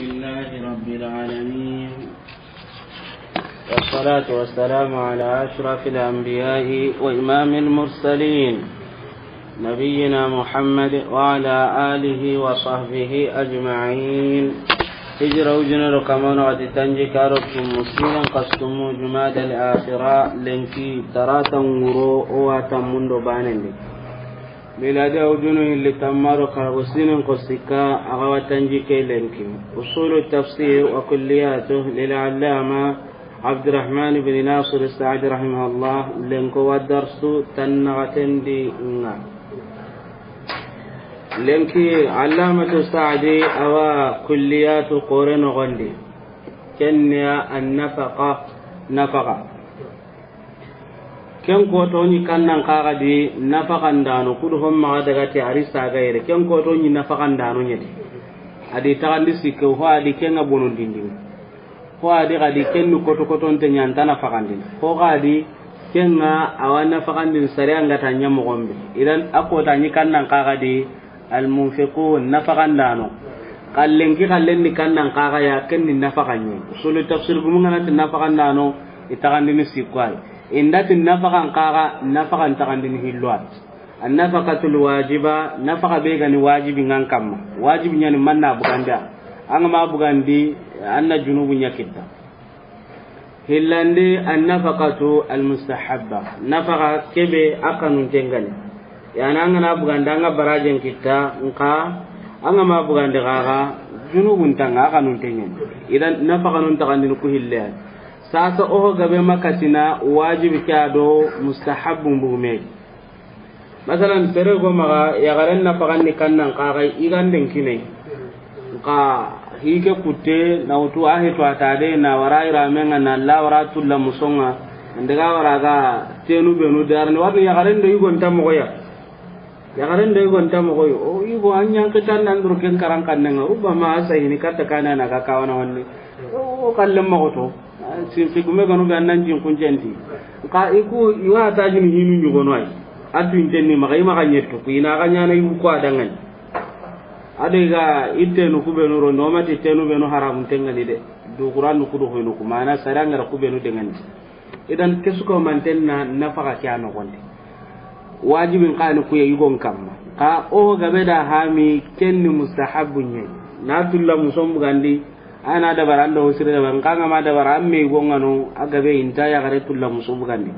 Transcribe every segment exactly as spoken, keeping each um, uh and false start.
لله رب العالمين، والصلاة والسلام على أشرف الأنبياء وإمام المرسلين، نبينا محمد وعلى آله وصحبه أجمعين. Hijira wujunu do kamano ati tanjikke do tumu siren kasu tumu Jumada al-Akhira lenki tarata ŋuro o wa tammun do banen di. Miladiya wujunu hilli tanmu do karago siren ko sikka a ga wa tanjikke lenki. Usulu tafsir wa kulliyatuh lil allama Abdurrahman bin Nasir Saadi rahimahullah, lenko wa darsu tannaxaten di ŋa. Lenki Allamatu Saadi a wa kulliyatu xoore noxon di. Ken ni ya an nafaqa, nafaqa. Ken koto ni kannan xaxa di nafaqandano, kudu hon maxa daga ti a ri saga yere. Ken koto ni nafaqandano ɲa di. A di taxandi sikke ho a di ken ŋa bonondindini. Ho a di xa di ken ni koto kotonte ɲa nta nafaqandini. Ho xa di ken ŋa a wa nafaqandini sariya ŋa ta ɲa moxon be. Idan a kota ni kannan xaxa di Almunfiqun, nafaqandano. Xa lenki xallen ni kannan xaxa ya, ken ni nafaqan ɲa. Usulu tafsir gumu ŋa na ti nafaqandano, i taxandini sikko ya. I nda ti nafaqan xaxa, nafaqan taxandini hillo ya. An nafaqatul wajiba, nafaqa be ga ni wajibi ŋa an kamma. Wajibi ɲa ni manna bugandi ya. An ga ma bugandi, an na junubu ɲa kitta. Hillandi an nafaqatu al mustahabba, nafaqa kebe a kanunten ŋa ni. Yani an ga na bugandi an ga barajen kitta, nxa an ga ma bugandi xaxa junubun ta ŋa a kanunten ɲa ni. Idan nafaqanun taxandini ku hille ya. Sasa oho gabe makatina wajibi ke do mustahabbun bugume. Masalan, sere go maxa yaxaren nafaqan ni kannan xaxa i ganden kine. Nxa hike kutte na wutu a heto a ta de na wara i ramen ŋa na la wara tulla muson ŋa. An daga wara ga tenu benu darni warni yaxaren do i gon ta moxo ya. Yaxaren do i gon ta moxo yo. O i go an ɲan kitan nan dur ken karan kannen ŋa. Rubama a sahini katta kana na ga kawana wanni. O kallen moxo to. Sinfi gume ganu be an nan jin kuncenti. Nxa i ku i wa ta jin hinu ɲugono ay. A tuinten ni maxa i maxa ɲettu ku i na ga ɲana i ku a danŋa ni. A do i ga i tenu ku benu ro no ma ti tenu benu haramunten ŋa ni de. Do Qur'anu ku do hoyno ku mana sariya ŋa ra ku benu denŋa ni. Idan ke su ko manten na nafaqa ke a noxon di. Wajibin xa ni ku ya i gon kamma. Xa o gabe da hami ken ni mustahabbun ɲa ni. Na tulla muson bugandi. A na dabara an do sire dabara, nxa an ga ma dabara an me i go ŋa no, a gabe i nta yaxare tulla muso bugandi.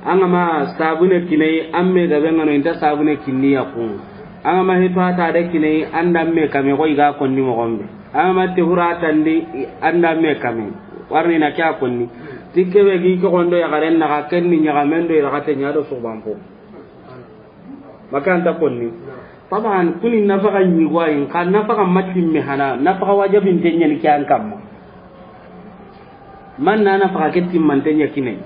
An ga ma sabune kine an me gabe ŋa no, i nta sabune kinni ya ku. An ga ma heto a ta de kine an da me kame xo i ga konni moxon be. An ga ma te hura tandi an da me kame. Warni na ke a konni. Ti kebe gi ke xondo yaxaren naxa ken ni ɲaxamen do i raxate ɲa do suxubanpo. Maka an ta konni. Taban ku ni nafaqa ɲi go ayi, nxa nafaqa ma timme hana, nafaqa wajabinten ɲa ni ke an kamma. Man na nafaqa ke timmanten ɲa kine.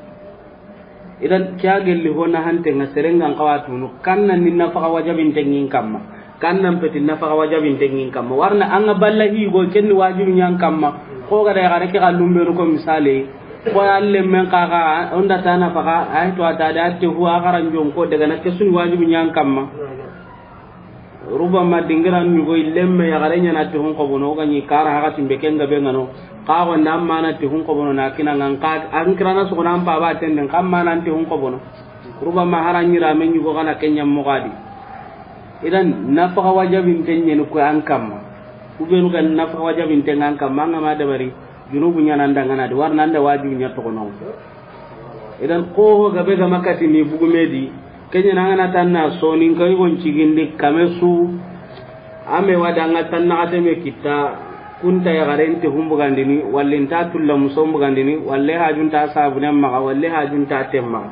Idan ke a gelli ho na hanten ŋa seren ŋa an xawa tunu, kannan ni nafaqa wajabinten ŋi n kamma. Kannan peti nafaqa wajabinten ŋi n kamma. Warna an ga balla hi go ken ni wajibi ɲa an kamma. Xo ga da yaxare ke xallun benu ko misale. Ko a lemmen xaxa, o nda ta nafaqa, ay to a ta de, a te hu a xaranjon ko daga na ke su ni wajibi ɲa an kamma. Rubama dingiran ɲugo i lemme yaxare ɲa na te hun xobono, o ga ɲi kara haxa timbe ken gabe ŋa no. Xa go nda an ma na te hun xobono na kina ŋa nxa an kirana soxona an paba tenden, xa an ma na te hun xobono. Rubama hara ɲira me ɲugo xa na ken ɲa moxo a di. Idan nafaqa wajabinten ɲa ni ku an kamma. Ku benu ga nafaqa wajabinten ŋa an kamma, an ga ma dabari, junubu ɲa na an danŋa na di, warna an da wajibi ɲa toxono. Idan xo ho gabe ga ma kati ni bugume di, ke ɲa na an ga na tanna soninka i gon cigindi kame su, a me wa da an ga tannaxate me kitta, ku nta yaxaren te hun bugandini, walla i nta tulla muson bugandini, walla hajun ta sabunen maxa, walla hajun ta ten maxa.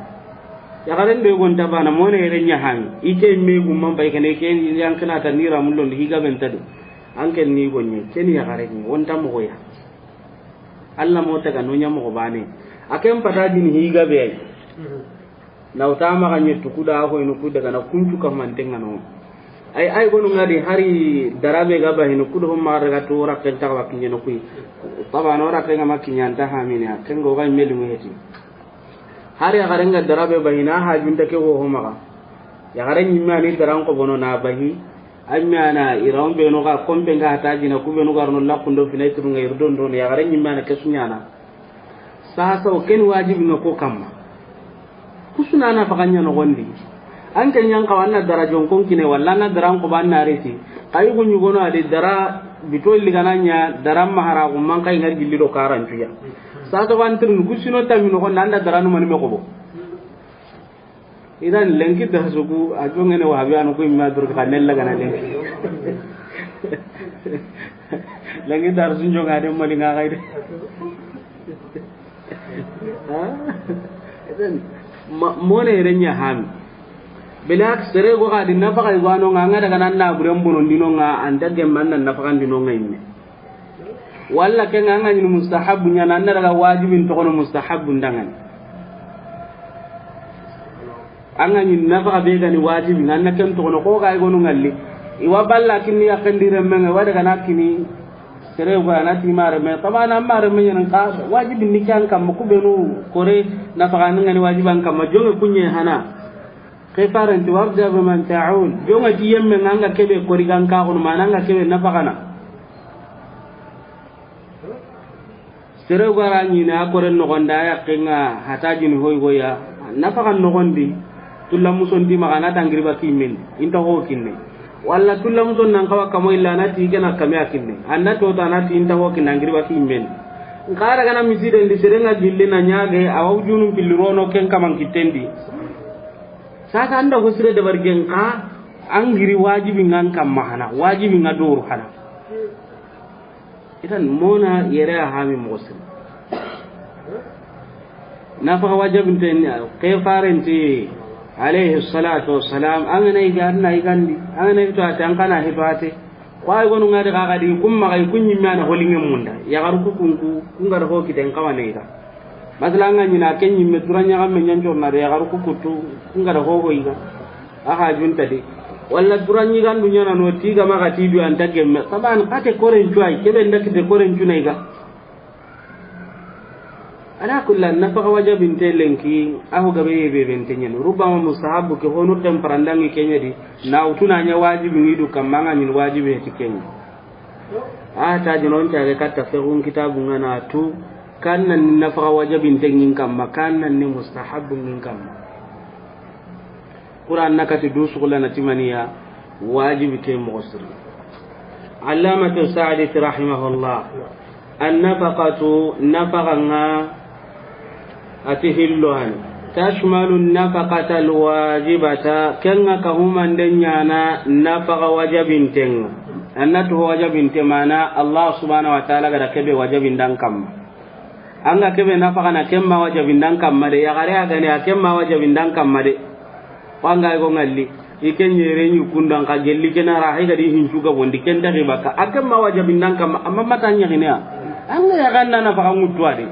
Yaxaren do i gon ta bana, mone yere ɲa hami, i ke me gumman bay kene, ke yan kina ta ni ramulon di, hi gabe nta di. An ken ni gonye, ken ni yaxare ni, o nta moxo ya. Alla mo taga no ɲa moxo bane. A ken pata dini hi gabe ay. Na wuta maxa ɲettu ku da ho inu ku daga na kuncu kamanten ŋa no. Ay, ay gonu ŋa di hari darabe ga ba hinu ku do ho maxa daga to rakken ta ga ba kiɲe no kuyi. Tabano rakken ŋa ma kiɲe an ta hamini ya. Ken go ga meli mu heti. Hari yaxaren ga darabe ba hina hajun ta ke go ho maxa. Yaxaren ɲimme a ni daran xobono na ba hi. An ɲaana i ra on be no ga kompe nga hata jina ku be no ga ro no lakundo fina i turu nga i ro don don ya ga ra ɲi mana ke su ɲaana. Sasa o ken wajibi nga ko kamma. Ku su na nafaqa ɲa noxondi. An ke ɲan xawa na dara jonkon kine walla na dara ko ban na reti. Kayi ku ɲugono adi dara bito ligananya dara mahara ku man kay ngar gilli do karantuya. Sasa ban tirnu ku sino tammi noxondi an da dara no mani me ko bo. Idan lenki darsu ku a jongene wahabi anu ku imma dur ka nella gana lenki. Lenki darsu jonga de mali nga kay de. Ha? Idan mone renya hami. Bilak sere go ga di nafaqa igwano nga nga daga nan na buren bonon dino nga anta gemman nan nafaqa dino nga imme. Walla ken an ga ɲini mustahabbu ɲa na, an na daga wajibin toxono mustahabbu ndangani. An ga ɲini nafaqa be gani wajibi nga na ken toxono ko ga i gonu ngalli. I wa balla kinni ya kandi remme nga wa daga na kini sere go na ti mare me tabana mare me ɲan ka wajibi ni kan kam ku benu kore nafaqa ngani wajiban kam jonge kunye hana. Ke farenti wabda bi man ta'ul. Jonga ti yemme nga nga kebe kori gan ka kono mana nga kebe nafaqa na. Sere gara ɲini a koren noxondi a yaqqe nga hata jini hoy goya nafaqa noxondi. Tulla muson di maxa na tangiri ba kimen inta ho kinne. Walla tulla muson nan kawa kamo illa na ti gena kame a kinne. Anna to ta na ti inta ho kinne angiri ba kimen. Nkara gana misiden di sere nga gille na ɲage a wa wujunun pilli rono ken kaman kitten di. Sasa anda ho sire dabar gen ka an giri wajibi ngan kamma hana wajibi nga doru hana. Idan mona yere a hami moxo siri. Nafaqa wajabinte ke farenti alayhi salatu wassalam an ga na iga an na igandi an ga na hito ate an kana hito ate. Ko ay gonu ngadi ga gadi kum maxa i kun ɲimme ana holinge munda yaxaru ku kunku kun ga da ho kiten kawane iga. Masala an ga ɲina ke ɲimme dura ɲaxamme ɲancorna de yaxaru ku kuttu kun ga da ho ho iga. A hajunta de. Walla dura ɲigandu ɲana no ti ga maxa ti du anta gemme saban kate koren cuwa kebe nda kite koren cuna iga. Ala kulli nafaqa wajabinte lenki a ho gabe yebe bente ɲen rubama mustahabu ke honu ken parandangi kenyedi. Na utuna ɲa wajibi ngidu kamma nga ɲin wajibi heti kenya. A ta jinon ta ga katta fehun kitabu nga na tu. Kan nan ni nafaqa wajabinte ngin kamma kan nan ni mustahabu ngin kamma. Quran na kati du sugula na timaniya wajibi ke moxo siri. Allamatu Sa'di rahimahullah. Annafaqatu nafaqa nga ati hillo hani. Tashmalu nafaqata alwajibata kenga ka humande ɲana nafaqa wajabintenga. Annatu wajabinte mana Allah subhanahu wa ta'ala gada kebe wajabindan kamma. An ga kebe nafaqa na kemma wajabindan kamma de yaxare a gane a kemma wajabindan kamma de. Ko an ga go ngalli i ken yere ɲi kundan ka gelli ken ara hay gadi hincu ga bondi ken taxi baka a kemma wajabindan kamma amma mata ɲaxine a. An ga yaxanna nafaqa ŋuttu a de.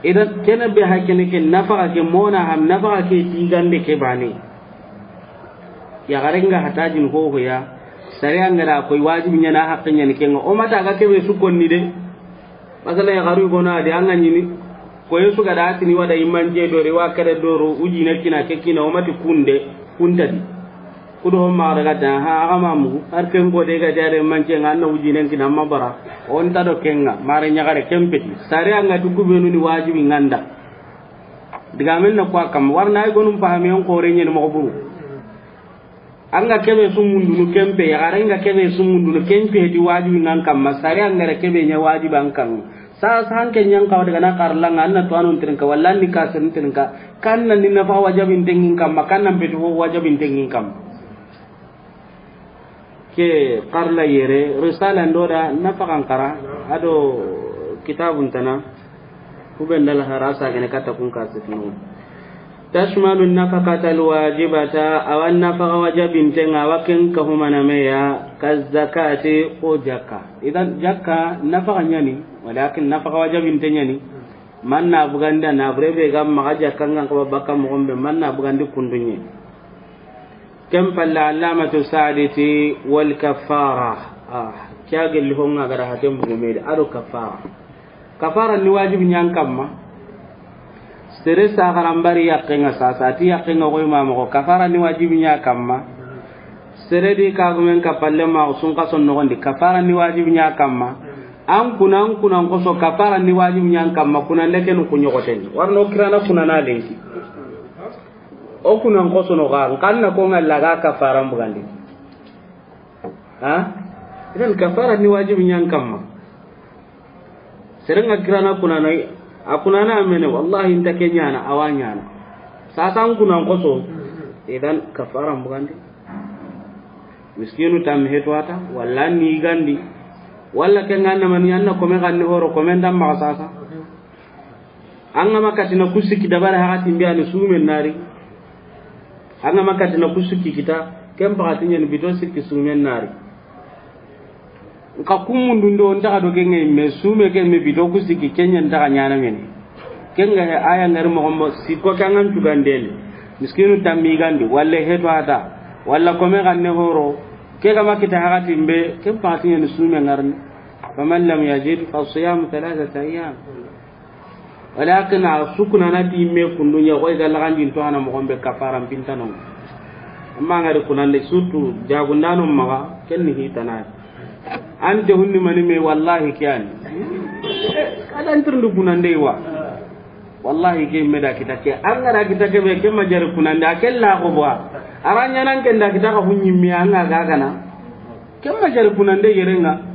Idan kene be ha kene ke nafaqa ke mona ham nafaqa ke tigande ke bane. Yaxare nga hatajin hohoya sare an ga da koy wajibi ɲana haqqe ɲani kenga o mata ga kebe su konni de. Masala yaxaru gona de an ga ɲini. Ko yesu ga da tini wada imanje dori wa kare doro ujine kina ke kina o mati kunde kuntadi. Kudo ho ma daga da ha aga mamu har ken ko de ga jare manje nga na ujine kina ma bara. On ta do kenga mare ɲagare kempeti sare an ga tu kubenu ni wajibi nganda. Diga men na kwa kam warna ay gonum pahami on ko renyen mo buru. An ga kebe sumundunu kempe yaxare nga kebe sumundunu kempe di wajibi ngan kamma sare an ga ra kebe ɲa wajibi an kan. Sa sa hanke ɲan kawa daga na karla nga anna to anon trinka walla ni ka sen trinka. Kan nan ni nafa wajabinte ngin kamma kan nan betu wajabinte ngin kamma. Ke karla yere risala ndoda nafaqa nkara ado kitabun tana. Kuben dal harasa gene kata kun ka sitinu. Tashmalu nafaqata alwajibata awa nafaqa wajabinte nga awa ken ka humana meya ka zakati ko jakka. Idan jakka nafaqa ɲani walakin nafaqa wajabinte ɲani. Man na buganda na burebe ga maxa jakka ngan ko bakka mo gombe man na bugandi kundunye. Ken palle allamatu Sa'di ti wal kaffara. Ah, kya gelli ho nga gara haten bugumede ado kaffara. Kaffara ni wajibi ɲan kamma. Sere sa garan bari yaqqe nga sasa ti yaqqe nga koy ma mo kaffara ni wajibi ɲa kamma. Sere di kagumen kappalle ma sunkaso noxondi, kafara ni wajibi ɲa kamma. An kuna, an kunan koso, kafara ni wajibi ɲa kamma, kunande ken ku ɲoxoten. Warno kirana kunana lenki. O kunan koso no ga, nkanna ko ngalla ga kafara mbugandi. Ha? Idan kafara ni wajibi ɲa kamma. Serenga kirana kunana, a kunana amene, wallahi nta ke ɲana, awa ɲana. Sasan kunan koso, idan kafara mbugandi. Miskinu tammi hetuwata, walla ni gandi. Walla ke nganna mani anna kome ganni horo, kome ndam maxa sasa. An ga ma katina ku sikki dabari hakati mbi ani sumen nari. An ga ma katina ku sikki kita, ken pakati ɲani bito sikki sumen nari. Nka kumundunde o ntaxa do ke ŋa yimme, sume ke me bito ku sikki, ke ɲa ntaxa ɲana mene. Ke ŋa he aya ngari moxo mo sikko ke an ga ntugandene. Miskinu tammi gandi, walla heto hata, walla kome ganne horo. Ke ga ma kita hakati mbe, ken pakati ɲani sume ngarni. Faman lam yajid fa siyamu thalathata ayyam. Walakin a sukuna na ti me kundunya koy ga lagandin to hana mo gombe kafara pintano. Amma ngari kunande surtout jagundano maga ken ni hitana. Ante hunni mani me wallahi kiyani. Adan tirndu kunande wa. Wallahi ke me da kita ke. An ngara kita ke be ke majari kunande akella ko bwa. Aranya nan ken da kita ka hunni me an ga gana. Ken ma jari kunande yerenga.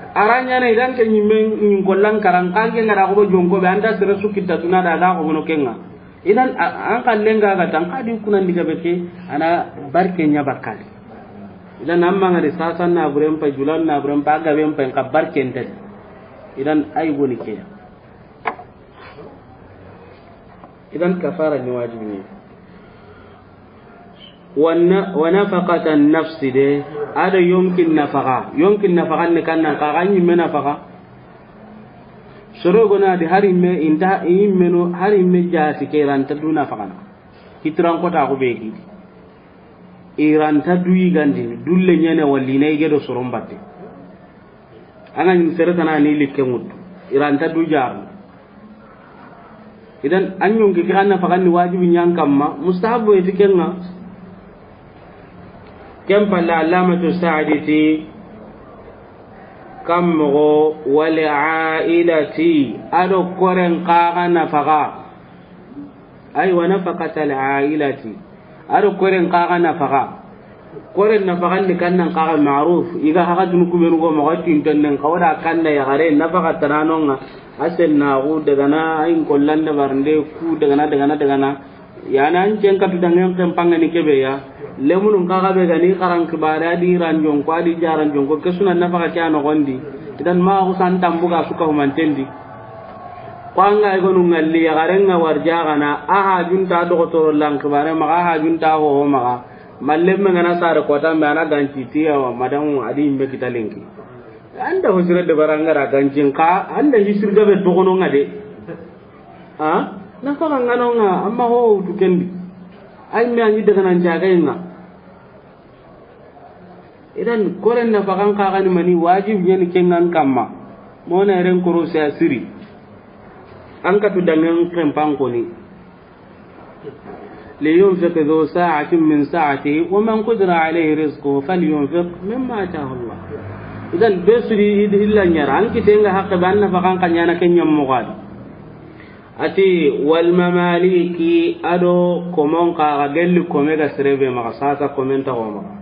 Aranyana idan ke ɲimme ɲin kollan karan kanke ngara ko jonko be anda sere sukita duna da ga ko mono kenga. Idan a-, an kallenga ga tan kadi kunandi ga beke ana barke nya bakali. Idan amma ngari sasan na buren pa julan na buren pa ga ben pa ka barke ntel. Idan ay goni ke. Idan kafara ni wajibi ne. Wa na-, wa nafaqatan nafsi de, ado yonkin nafaqa. Yonkin nafaqa ne kannan ka ga ɲimme nafaqa. Soro gona di hari me inta yimme no hari me jasi ke ranta du nafaqa na. Hitran kota ko be gi. Iranta du yigandi, dulle ɲene walli na yige do soron batte. An ga ɲi sere tana ni likke ŋuttu. Iranta du jaru. Idan an ɲonki ke kanna faganni wajibi ɲan kamma, mustahabu eti kenga. Ken palla Allamatu Saadi ti, kam mogo wal ailati, ado koren kaga nafaqa. Ay, wa nafaqatal ailati. Ado koren kaga nafaqa. Koren nafaqa ni kannan kaga ma'ruf. Iga haga dunu kubenu go mogo tinten nen kawda kanda ya gare nafaqa tananonga. Asen na gu daga na ayin kollan da barnde ku daga na, daga na, daga na. Ya na an cen katu dangen ken pangani kebe ya. Lemunun kaga be gani karan kibare adi ranjon ko adi jaranjon ko kesuna nafaqa kya no gondi. Idan ma ku san tambuga suka humantendi. Ko an ga i gonu ŋalli, yaxaren ŋa warjaxana, a hajunta doxotoro lankibare maxa, a hajunta hoho maxa. Mallen me ŋana sare kota me a na ganci ti, awa madamu a di yinme kita lenki. An da hosire debara ŋa ra ganci nxa, an da hisir gabe toxono ŋa de. A? Na faxa ŋano ŋa, amma ho wutu kendi. Ay me a ɲi daga nan jagaye ŋa. Idan koren nafaxan kaxani mani wajib ɲani kengan kamma. Mona eren korosi a siri. An katu dangen kempan koni. Liyunfiq dhu sa'atin min sa'atihi wa man qudira alayhi rizquhu falyunfiq mimma atahu Allah. Idan be sudi illa ɲara an kitenga haqqe be an nafaxan ka ɲana ken ɲammoxadi. Ati, wal mamaliki, ado komon kaga gelli kome ga serebe maxa, sasa komen taxo maxa.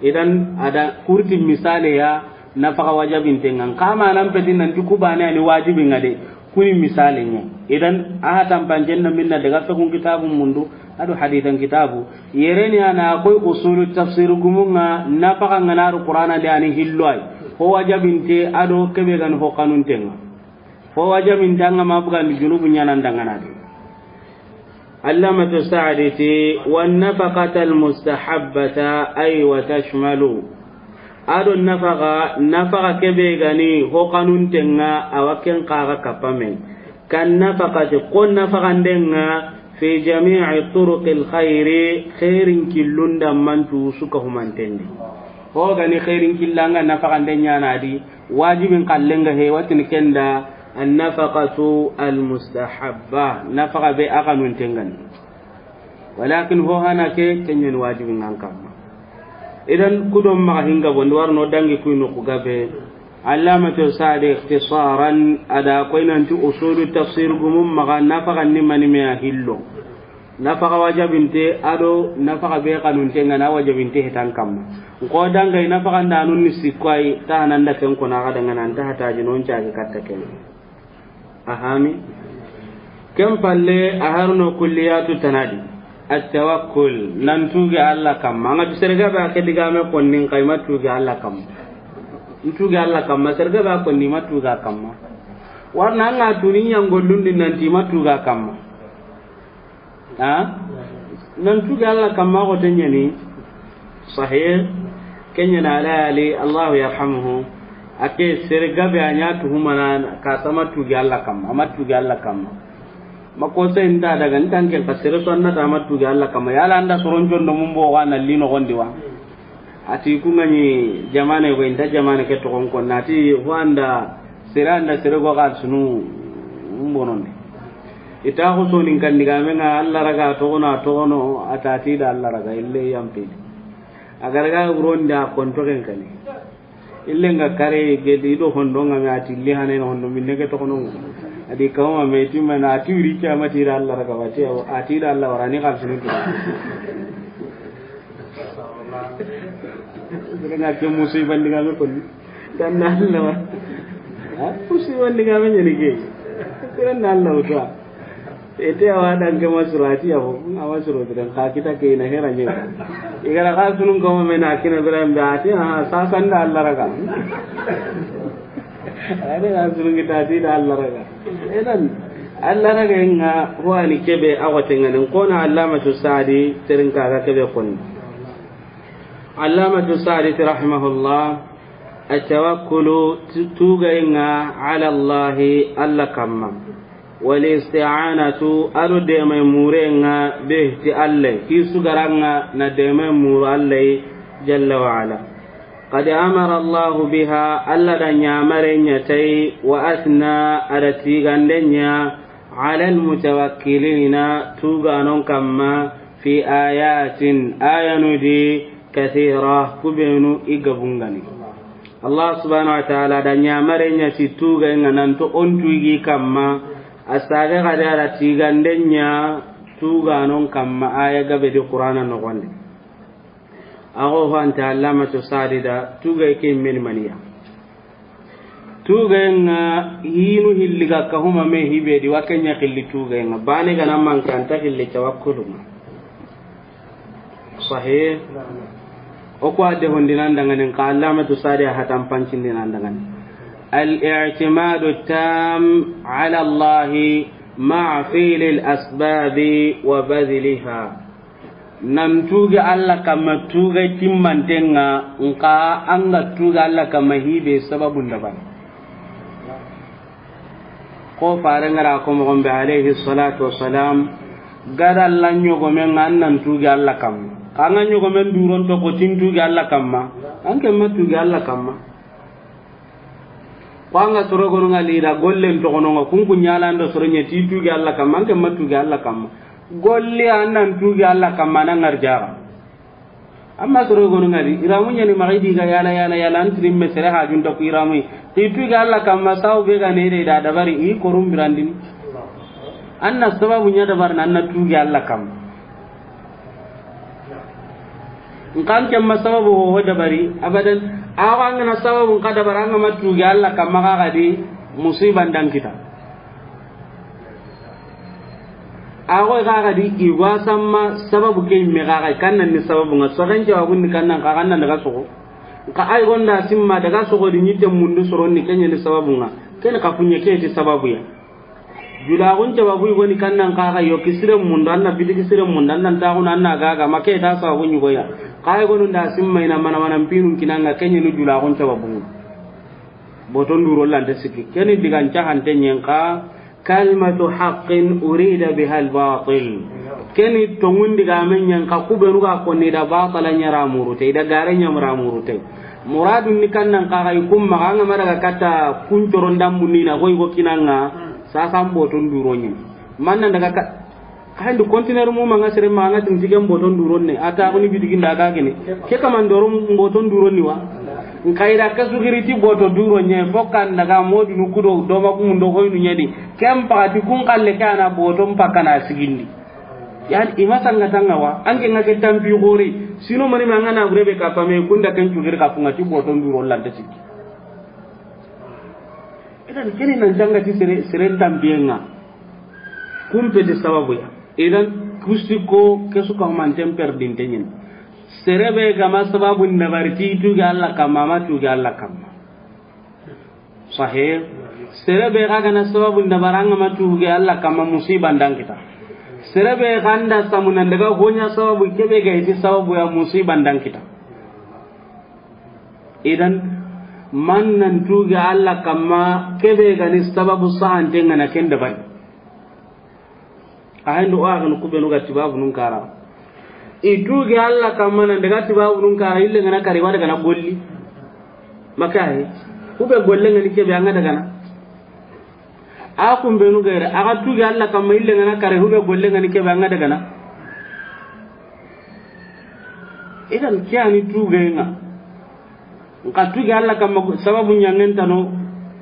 Idan, ada kurti misale ya, nafaqa wajabinten ŋa. Kama nan peti nanti kubane ani wajibi ŋa de, kuni misale ɲa. Idan, aha tampancen na minna daga fekun kitabu mundu, ado hadisan kitabu. Yereni ana koy usulu tafsir gumun ŋa, nafaqa ŋa naru Qur'ana de ani hillo ay. Ho wajabinte, ado kebe gani ho kanunten ŋa. Fo wajabinte an ga ma bugandi junubu ɲanan dangana de. Allamatu Saadi ti, wa nafaqata almustahabbata, ay wa tashmalu. Ado nafaqa, nafaqa kebe gani ho kanunten ŋa, awa ken kaga kapame. Kan nafaqati, ko nafaqanden ŋa, fi jami'i turuqil khayri, khairin killunda mantu suka humantendi. Ho gani khairin killanga nafaqanden ɲana di, wajibin kallenga he, watini kenda, an-nafaqatu al-mustahabba, nafaqa be a kanunten ŋa ni. Walakin ho hana ke, kenyen wajibin ŋa kamma. Idan, ku do maxa hinga bondi, warno dangi kuy no ku gabe. Allamatu Sa'di ikhtisaran, a da koy nanti usulu tafsir gumu maxa nafaxa ni mani me a hillo. Nafaxa wajabinte, a do nafaxa be xanunte nga na wajabinte hetan kamma. Nko dangay nafaxa ndanun ni sikko ay, ta hananda ken ko na ga dangana, nta hataji non cagi katta ken. A hami. Ken palle, a harno kulliyatu tanadi. At-tawakkul, nan tuge Alla kamma. Anga tu sere gabe a ke digame konni, nka i ma tuge Alla kamma. N tuge Alla kamma, sere gabe a konni, i ma tuge a kamma. Warna anga tuni ɲangollundi nanti i ma tuge a kamma. Ha? Nan tuge Alla kamma ko tenyani. Sahih. Kenyana ala ali, Allahu yarhamuhu. A ke sere gabe a ɲa tuhumana ka sama tuge Alla kamma, a ma tuge Alla kamma. Ma ko sai nda daga ntan ken ka sere so annata a ma tuge Alla kamma. Yala anda soron jondo mumbo wa na lino gondi wa. Ati ku ngani jamane go inta jamane ke togon ko nati ho anda sere anda sere go gal sunu mbonondi. Ita ko sonin kan digame nga Alla raga togono a togono, atati da Alla raga ille yampi. Agaraga uronda konto ken kani. Ille nga kare gedi do hondo nga me ati ille hane no hondo minne ke togono. Adi kawma me timma na ati wiri kiyamati da Alla raga wati ati da Alla warani kal sunu. Sere nga ke musiba ndi ga me konni. Dan na Alla wa. Ha? Musiba ndi ga me ɲani ke. Sere na Alla wuta. Ete awa dan ke masurati ya ho. Nga masuro dan ka kita ke na hera ɲe. Igara ka sunun ko me na kina biran be ati, ha, sa san da Alla raga. Ade ka sunun kita ti da Alla raga. Idan, Alla raga nga ho ani kebe a wate ngani. Kona Allamatu Sa'di terin ka ga kebe konni. Allamatu Sa'di rahimahullah, at-tawakkulu, tu-, tugayenga, ala Allahi, Alla kamma. Wal isti'anatu, ado deme murenga, bih, ti Alla, ki sugaranga na deme muru Alla, jalla wa ala. Qad amara Allahu biha, Alla da ɲamare ɲa tay, wa asna, ada tigande ɲa, ala al-mutawakkilina, tuganon kamma, fi ayatin, ayanu di, kathira, kubenu i gabungani. Allah subhanahu wa ta'ala da ɲamare ɲa ti tugayenga nanto on tugi kamma, a sage gade ada tigande ɲa tuganon kamma, aya gabe di Qur'ana nogonde. Ago ho anta Allamatu Sa'di da, tugaye ke men maniya. Tugayenga hinu hilli ga kahuma me hibe di wa kenya hilli tugayenga. Bane gana mankanta hilli tawakkulunga. Sahih. O ko ade hondinan dangane, ka Allamatu Sa'di a hatan pancindinan dangane. Al-i'timadu tam ala Allahi ma'a fi'lil asbabi wa badhliha. Nan tuge Alla kamma tuge timmantenga, nka anga tuge Alla kamma hibe sababun dabari. Ko fare ngara ko mogon be alayhi salatu wassalam, gada Alla ɲogomen nga an nan tuge Alla kamma. Ka nga ɲogomen duron to ko tin tuge Alla kamma, an ke ma tuge Alla kamma. Ko anga soro gonu nga lida gollen to gono nga kunku ɲalando soro ɲe ti tuge Alla kamma, an ke ma tuge Alla kamma. Golli an nan tuge Alla kamma nan ngarjaga. Amma soro gonu nga di, iramu ɲani maxi di ga yala, yala, yala, an tiri me sere hajunta ku iramu. Ti tuge Alla kamma sawu be ga ne de da dabari i korum birandini. An na sababu ɲa dabar nan na tuge Alla kamma. Nkan kemma sababu ho dabari, abadan. Awa ngana sababu nka dabara nga ma tuge Alla kamma ga di musiban dan kita. Ago ga di igwa samma sababu ke me ga kan nan ni sababu nga soxen jawabun ni kan nan ka kan nan daga soxo. Nka ay gonda simma daga soxo di ɲite mundu soron ni kenya ni sababu nga. Ken ka funye ke ti sababu ya. Julaxun sababu i goni kan nan kaxa yo, kisiren munda, an na biti kisiren munda, an nan taxuna, an na gaga, ma ke ta sababu ɲugoya. Xa i gonu nda simma i na mana mana mpinun kinanga, keɲeni julaxun sababu. Boton duro lante sikki. Keni digan cahante ɲen xa, kalmatu haqqin urida biha albatil. Keni tongun digamen ɲen xa, kubenu ga konni da batala ɲara murute, i da gare ɲamara murute. Muradun ni kan nan kaxa i kumma, anga ma daga kata kun coron dambu ni na, koy go kinanga. Sasan boton duro ɲi. Manna daga ka, Handi conteneur mu manga sere manga tin tigen boton duron ne, a ta kuni bitigin da ga gene. Ke kaman doro boton duron ni wa. Nkaira ka sugiri ti boto duron ne, fo kan daga modu nu kudo do ma kun do hoynu nyadi. Kem pati kun kalle kana boton pakana sigindi. Yan ima sanga tanga wa, anke ngake tampi gore. Sino mani manga na gurebe ka pame kunda ken sugiri ka funga ti boton duron lanta sikki. Idan kene nan janga ti sere, sere tampiyenga. Kumpeti sababu ya. Idan kusti ko kesu ka manten perdinte nyen. Sere be gama sababu nabari ti tuge Allah kamma, ma tuge Allah kamma. Sahih. Sere be ga gana sababu nabaranga ma tuge Allah kamma, musiba ndan kita. Sere be ganda samunan daga honya sababu kebe ga iti sababu ya, musiba ndan kita. Idan man nan tuge Allah kamma kebe gani sababu sahantenga na ken dabari. A hendo o axen kubenu ga tibabu nun kara. I tuge Allah kamma nan daga tibabu nun kara, ille ngana kari wada gana golli. Makahi. Kube golle ngani kebe anga dagana. A kumbenu gere, aga tuge Allah kamma, ille ngana kare, kube golle ngani kebe anga dagana. Idan kiyani tuge nga. Nka tuge Allah kamma sababu nyangen tano,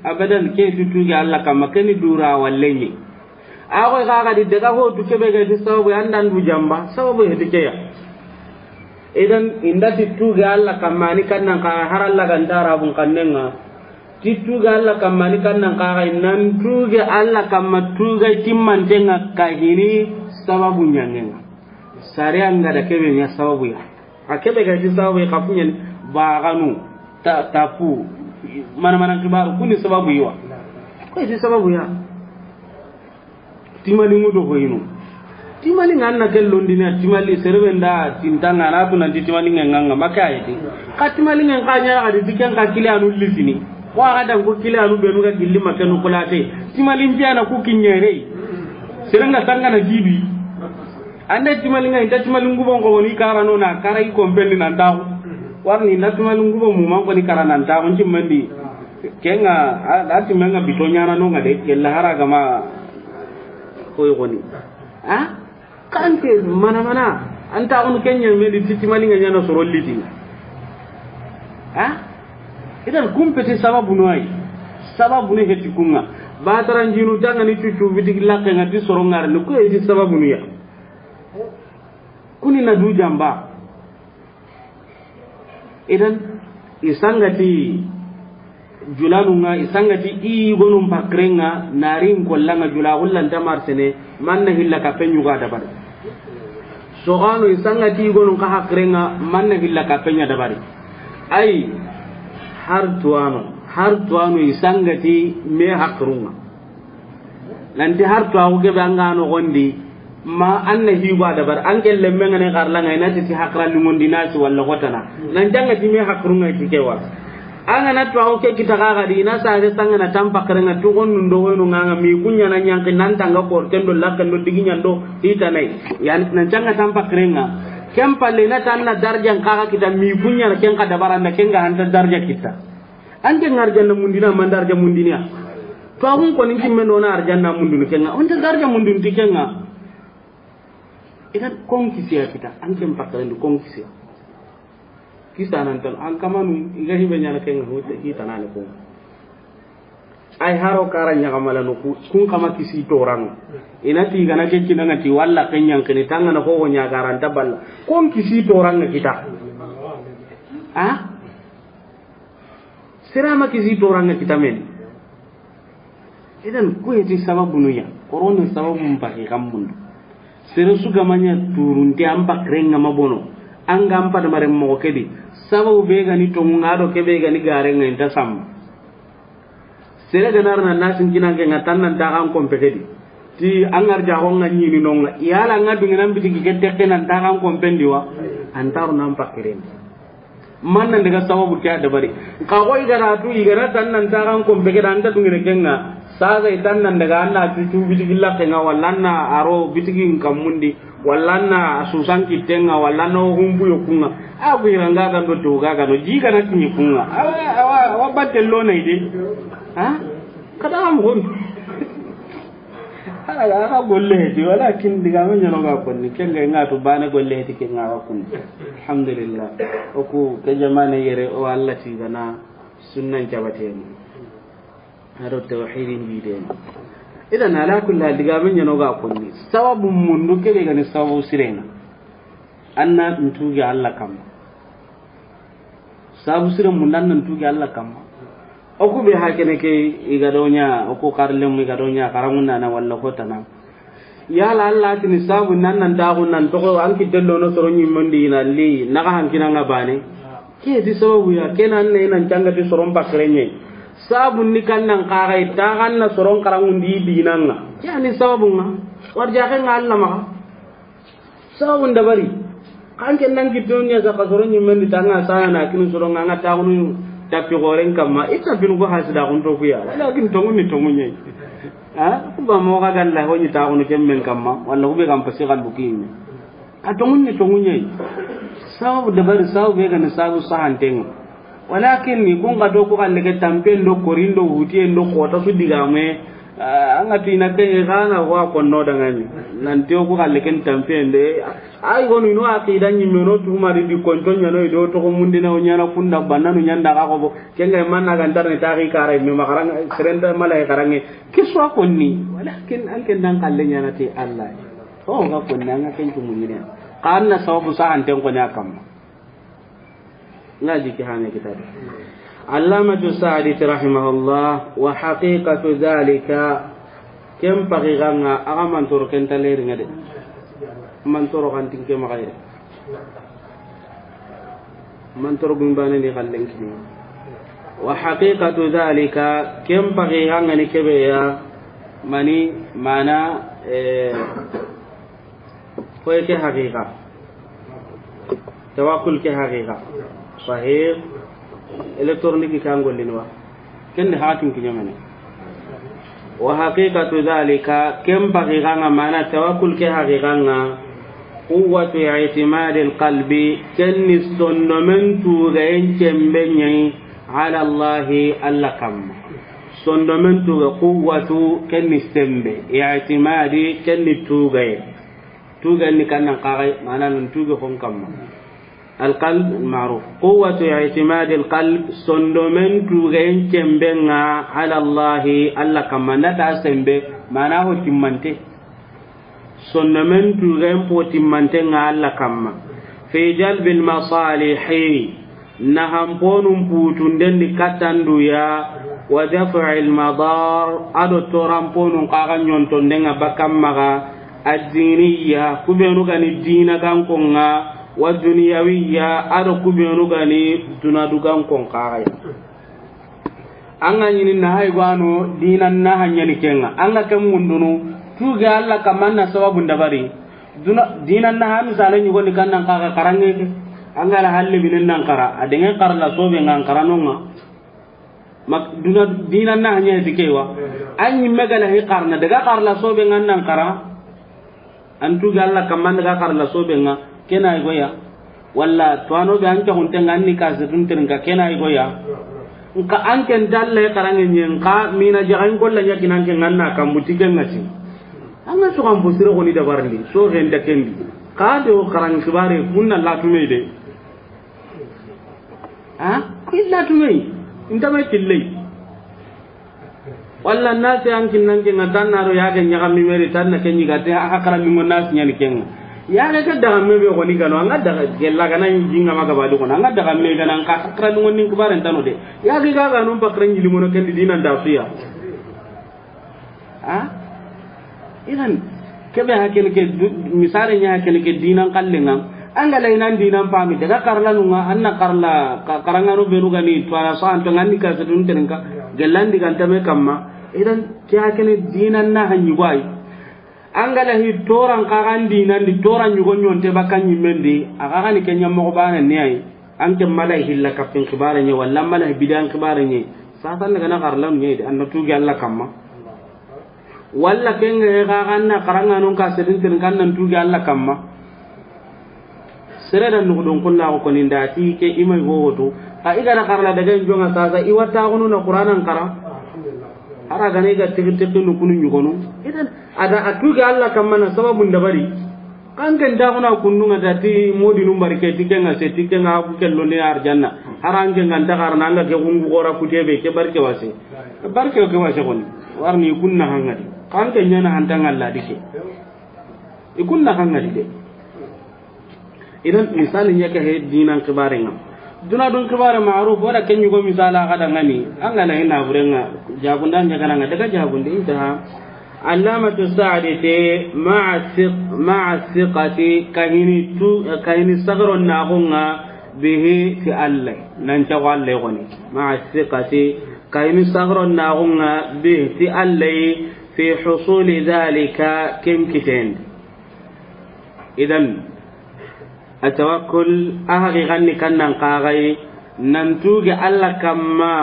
abadan ke tu tuge Allah kamma, keni dura wallenyi. Ago ga ga di daga ho tu kebe ga di sababu andan du jamba, sababu he di keya. Idan inda ti tuge Allah kamma ni kannan ka haralla gandara bun kannenga. Ti tuge Allah kamma ni kannan ka ga nan tuge Allah kamma tuge timmantenga ka hini sababu nyangenga. Sare anga da kebe nya sababu ya. A kebe ga ti sababu ya, kafunyani, baganu, ta, tapu, mana mana kibaru, kuni sababu yiwa. Ko ti sababu ya. Timali ngudo ko inu. Timali nganna ke londina, timali serebe nda tintanga na tu nanti timali nganga maka yiti. Ka timali ngan ka nya ga di tiken ka kile anu litini. Ko aga dan ko kile anu benu ga gilli makenu kulate. Timali mpiana ku kinyere. Serenga sanga na gibi. Anda timali ngai, inta timali ngubo ngo ni kara no na kara i kompendi nan taxu. Warni inta timali ngubo mu man ko ni kara nan taxu, nti mandi. Kenga, a, a timenga bito nyana no nga de, kella hara gama koy goni. Ha? Kanke mana mana, anta on kenya me di timali nga nyana soro liti. Ha? Idan kumpeti sababu no ay. Sababu ne heti kunga. Batara njinu tanga ni cucu bitigi lakke nga ti soro ngar ni ko eti sababu no ya. Kuni na du jamba. Idan, isangati julanunga, isangati i gonun pakrenga, narin kollanga jula hullan tamarsene, manna hilla ka penyuga dabari. Sogano isangati i gonun ka hakrenga, manna hilla ka penya dabari. Ay, har tuwano, har tuwano isangati me hakrunga. Nanti har to agu kebe anga no gondi, ma anna higo a dabar, an ke lemme ngane karlanga, ina ti ti hakra lingondi nasi walla gotana. Nan janga ti me hakrunga ti kewa. Anga na to agu ke kita ga ga di, ina sa re sanga na tampa krenga to gon nundo wenu nganga mi kunya na nyanki nan tanga kor kendo lakendo digi nyando hitanai. Yan nan janga tampa krenga. Ken palle na tanna darjan kaga kita mi kunya na ken ka dabaranda ken ga hanta darja kita. An ke ngar janna mundina, man darja mundinia. To agun ko ninki men dona arjanna mundun kenga. On ta darja mundun ti kenga. Idan kon kisiya kita, an ke mpakalen kon kisiya. Kisa nan tan, an kamanu, iga hibe nyana kenga, hote, kita nane ko. Ay haro kara nyaga malano ku, kun kama kisi torang. Ina ti gana ke kinanga ti walla kenyang kini tanga na ko nyaga ranta balla. Kon kisi torang kita. Ha? Sere ma kisi toranga kitamen. Idan ku heti sababu nuya. Korona sababu mpaki kammundu. Sere su gamanya turunte an bakrenga mabono. An ga an padamare mogo kedi. Sababu be gani tongunga do kebe gani garenga inta samma. Sere ganar na nasin kinanke nga tannan taxan kompe kedi. Ti an arja xo nga ñini nonga. Yala nga dungina bitigi ke tekke nan taxan kompendi wa. Antaru nan pakirendi. Man nan daga sababu ke a dabari. Ka xo i gara tu, i gara tan nan taxan kompe kedi, anta dungina kenga. Sasa i tan nan daga anna tu, tu bitigi lakke nga, walla anna aro bitigi nkammundi. Walla na susan kittenga, walla na humbu yokunga. A ku iranga gando to ga gano ji kana tinyi kunga. Awa, awa, awa batte lo na ide. Ha? Kada am hon. Ala ga golle heti, walakin digame ɲano ga konni, ken ga ŋa to bane golle heti, ken ŋa ga konni. Alhamdulillah. O ku ke jamane yere, o Allah ti gana sunnan jabateni. A do tawhidin bideni. Idan ala kulli hal, digame ɲano ga konni. Sababu mundu kebe gani sababu sirena. Anna ntugi Allah kamma. Sabu sire mun dan nan tugi Allah kamma. O ku be hakene ke i ga do ɲa, o ku karlem i ga do ɲa, karangun na walla ko tana. Yala Allah tini sabu nan nan ta gun nan to ko an ki dello no soro ɲimmondi na li, na ga hankina nga bane. Ke di sababu ya, ke nan ne nan canga ti soron pakrenye. Sabu ni kan nan kagai, ta kan na soron karangun di dinanga. Ke ani sababu nga. Warja ke nga Allah ma. Sababun dabari. Kan ken nan ki dunya za ka soro ɲimmen di tanga sana na kinu soro nga nga taxunu tapi goren kamma. Ita bin go hasida kun to kuya. Walakin tongun ni tongun ye. Ha? Ku ba mo ga galla ho ni taxunu kemmen kamma. Walla ku be kam pasi gallu kinni. Ka tongun ni tongun ye. Sababu dabari, sababu be gani sababu sahantenga. Walakin ni kun ga do ku galle ke tampen do korindo hutiyen do kota su digame. Ah, an ga ti na ke ga na wa konno dangani. Nan te ku galle ken tampen de. Ay gonu no aqida ni meno tu mari di konto ɲano do to ko mundina o ɲana kunda banna no ɲanda ga ko bo. Ken ga manna ga ntar ni taqi kare me makaran serenta malay karange. Kiswa konni. Walakin an ken dan kalle ɲana ti Allah. O ga konni an ga ken tu munine. Kanna sababu sahanten ko nya kamma. Nga jiki hane kitabe. Allamatu Sa'di rahimahullah, wa haqiqatu dhalika, ken pagiganga, aga mantoro ken taleri ngade. Mantoro kan tinke magayre. Mantoro gumbane ni kallen kini. Wa haqiqatu dhalika, ken pagiganga ni kebe ya, mani, mana, eh, Koy ke haqiqa. Tawakkul ke haqiqa. Sahih. Électronique kan gollini wa. Ken de hakin kiɲamene. Wa haqiqatu dhalika, ken haqiqa nga mana tawakkul ke haqiqa nga. Quwwatu i'timadil qalbi, ken ni sondomen tugayen cembe ɲayi, ala Allahi, Allah kamma. Sondomen tuga quwwatu, ken ni sembe. I'timadi, ken ni tugaye. Tugen ni kannan kagai, mana nan tuge hon kamma. Alqalb ma'ruf. Quwwatu i'timadi alqalb, sondomen tugen cembe nga ala Allahi, Allah kamma, nda ta sembe, mana ho timmante. Sondomen tugen po timmante nga Allah kamma. Fi jalbil masalihi, nahanponun putunden di kattanduya, wa daf'il madar, ado toranponun kaga ɲontondenga bakkan maga, addiniya, kubenu gani dina gankonga, wa duniyawiya, ado kubenu gani dunadu gankon kagaya. An ga ɲini na hay gwano dinan na hanyani kenga. An ga ken mundunu, tuge Allah kamanna sababun dabari. Duna, dinan na ha misale ɲugoni kannan kaga karange ke. An ga la halle binen nan kara, a denge karla sobe ngan karanonga. Mak, duna, dinan na hanyani tikewa. An ɲimme gala hi karna, daga karla sobe ngan nan kara. An tuge Allah kamma daga karla sobe nga, kena ay goya. Walla tuwano be an ke hunte nga anni kasetun terinka, kena ay goya. Nka an ken dalle karange nyen ka mina jaga in kolla nya kinan ke nganna kambuti ken ngati. An ga so kan busire ko ni dabarndi, so gen da kendi. Ka de o karang kibare kunna latume de. Ha? Illa tumey. Inta may killey. Walla nasi an kinnan ke nga tan na ro yage ɲaga mi meri tan na kenyi ga te a hakara mi ngona si ɲani kenga. Yage ke daga me be ko ni gano, an ga daga gella gana jinga maga badu ko, an ga daga me gana an ka hakara mi ngoni kubare tano de. Yage ga ga non pakran jili mono kendi dinan da suya. Ha? Idan, kebe hakene ke du-, misale ɲa hakene ke dinan kallenga. An ga la inan dinan pami, daga karla nunga, anna karla, ka-, karangano benu gani, tuwara so anto ngani kasetun terinka, gelandi gantame kamma. Idan, ke hakene dinan na hanyi gwai. An ga la hi toran kagan dinan di, toran yugo ɲonte bakkan ɲimmen di, a kagan ni kenya mogo bana ni ay. An ke mala hilla kappin kibare ɲe, walla mala bidan kibare ɲe. Satan daga na karla ɲe de, anna tuge Allah kamma. Walla kenga he ga ganna karanga non ka sedin tin kan nan tuge Allah kamma. Sere da nugu don kulla ko ni ndati ke imay go woto. Ka igara karla daga jonga sasa iwata gono na Qur'anan kara. Hara gane ga tiki tiki nu kunu ɲugonu. Idan, a da a tuge Allah kamma na sababun dabari. Kan ken da kuna kunnu nga da ti modi num barke ti ken nga se ti ken nga ku kello ne arjanna. Hara an ken nga nta garna nga ke gungu gora ku tebe ke barke wase. Barke ke wase koni. Warni kunna hangadi. Kan ken ɲana hantanga Allah dike. I kunna hangadi de. Idan misali ɲa ke he dinan xibaren ŋa. Duna dun xibare ma'ruf wala ken ɲugo misala ga da ŋani. An ga na ina buren ŋa. Jabunda ɲa ga na ŋa daga jabundi intaha. Allamatu Sa'di te ma'a thiq-, ma'a thiqati kahini tu, kahini sagaro na gunga bihi ti Allah. Nan ta Allah goni. Ma'a thiqati kahini sagaro na gunga bihi ti Allah fi husuli dhalika ken kiten. Idan, a tawakkul, a haqiqan ni kannan kagai, nan tuge Allah kamma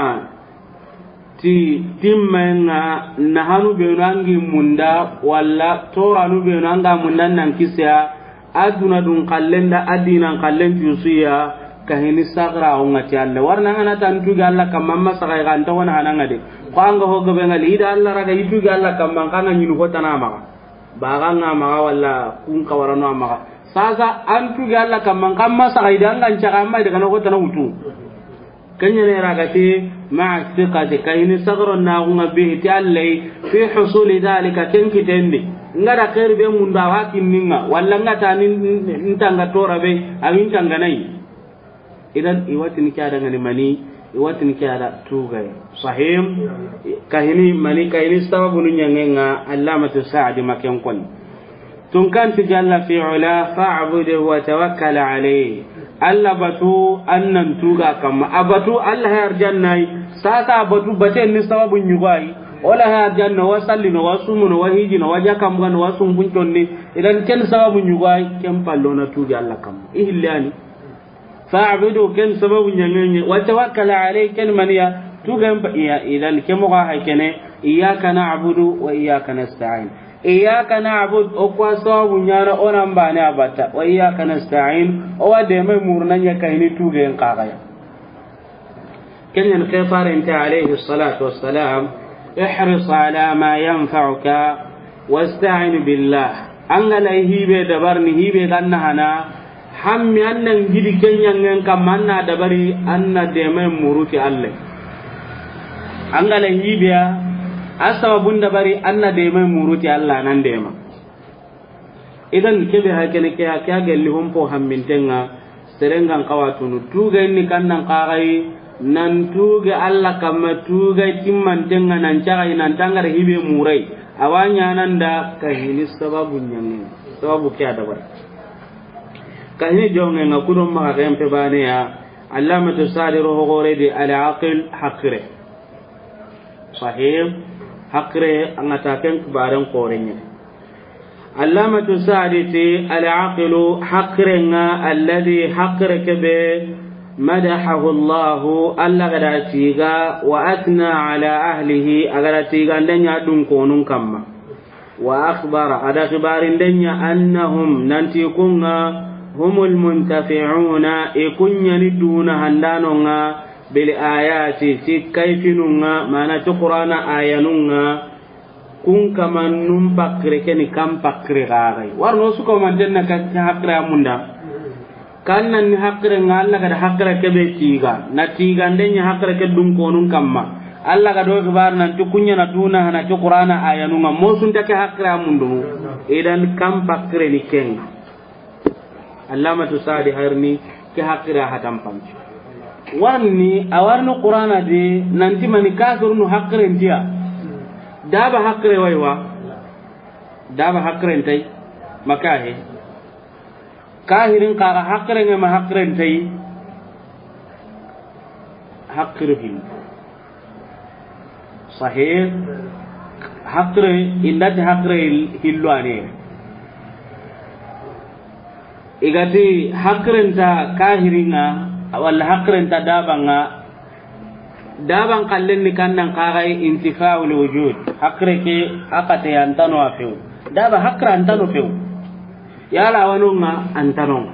ti timmenga, na hanu benu angi munda, walla toranu benu anga munda nan kisiya, aduna dun kallenda, adinan kallen tusiya, kahini sagra onga ti Allah. Warna ngana tan tuge Allah kamma, amma sagai kan ta wana hananga de. Ko anga ho gabe ngali, ida Allah raga i tuge Allah kamma, kanga nyinu ko tanama. Baga nga maga walla kun kawarano a maga. Sasa an tuge Allah kamma, kamma saga ida an ga ncaga amma ida kana ko tana wutu. Kenya ne raga ti ma'a thiqati kahini sagaro na gunga bihi ti Allah fi husuli dhalika ken kitendi. Nga da khair be munda wa kinninga walla nga ta ni ntanga tora be a wintanga nai. Idan i watini ke ada ngani mani, i watini ke ada tugay. Sahim, kahini mani, kahini sababu nu ɲangenga Allamatu Sa'di maken koni. Tun kanti jalla fi ula, fa'budu wa tawakkal alayhi. Allah batu annan tuga kamma. A batu Allah ya arjannai, sasa a batu bate ni sababu ɲugai. Wala ya arjanna wa sallino, wa sumuno, wa hijino, wa jakamgano, wa sumbunconni. Idan ken sababu ɲugai, ken pallona tugi Allah kamma. Ihillani. Fa'budu ken sababu ɲangenye, wa tawakkal alayhi ken maniya, tugen pa iya, idan ke moga hay kene, iyyaka na'budu wa iyyaka nasta'in. Iyyaka na'budu, o kwa sababu ɲana onan bane abata, wa iyyaka nasta'in, o wa deme murna ɲa kahini tugen kagaya. Kenyan ke farente alayhi salatu wassalam, ihris ala ma yanfa'uka, wasta'in billah. Angala hibe dabar ni hibe ganna hana, hammi annan gidi kenyangen kam anna dabari anna deme muruti Allah. Angala hibe a sababun dabari anna deme muruti Allah nan dema. Idan kebe hakene ke ke gelli hompo hammintenga serengan kawatunu tuga inni kannan kagai nan tuga Allah kamma tuga timmantenga nan cagai nan tangar hibe murai awanya nan da kahini sababu ɲangen sababu ke adabar kahini jongen nga kudon maga kempe bane ya Allamatu Sa'di ro hogore di al aqil hakre. Sahih, hakre angata ken kibaren korenye. Allamatu Sa'di ti al aqilu hakrenga alladhi hakre kebe madahahu Allah, Allah gada tiga wa athna ala ahlihi agada tiga ndenya dun konun kamma. Wa akhbara ada khibarin denya annahum nanti kunga humul muntafi'una e kunyani duna handanonga bil ayati ti kaifinunga mana ti qur'ana ayanunga kun kamannun pakre keni kam pakre gagai warno suko mantenna ka hakre amunda. Kannan ni hakre nga Allah gada hakre kebe tiga na tiga ndenya hakre ke dun konun kamma Allah gada o gibar nan ti kunya na duna hana ti qur'ana ayanunga mosun take hakre amundu. Idan kam pakre ni kenga. Allamatu Sa'di harni ke hakre hatan panci. Warni awarni qur'ana de nanti mani kafirnu hakre ntiya. Daba hakre waiwa. Daba hakre ntai makahe. Kahirin kaga hakkirenŋe ma hakkiren tayi. Hakkiru hin. Sahih. Hakkire indati hakkire hillo ane. Igati hakkiren ta kahirinŋa walla hakkiren ta dabanŋa. Daban kallen ni kannan kaxay intifa'ul wujud. Hakkire ke a kate antano a few. Daba hakkire antano few. Yala wanonŋa antanonŋa.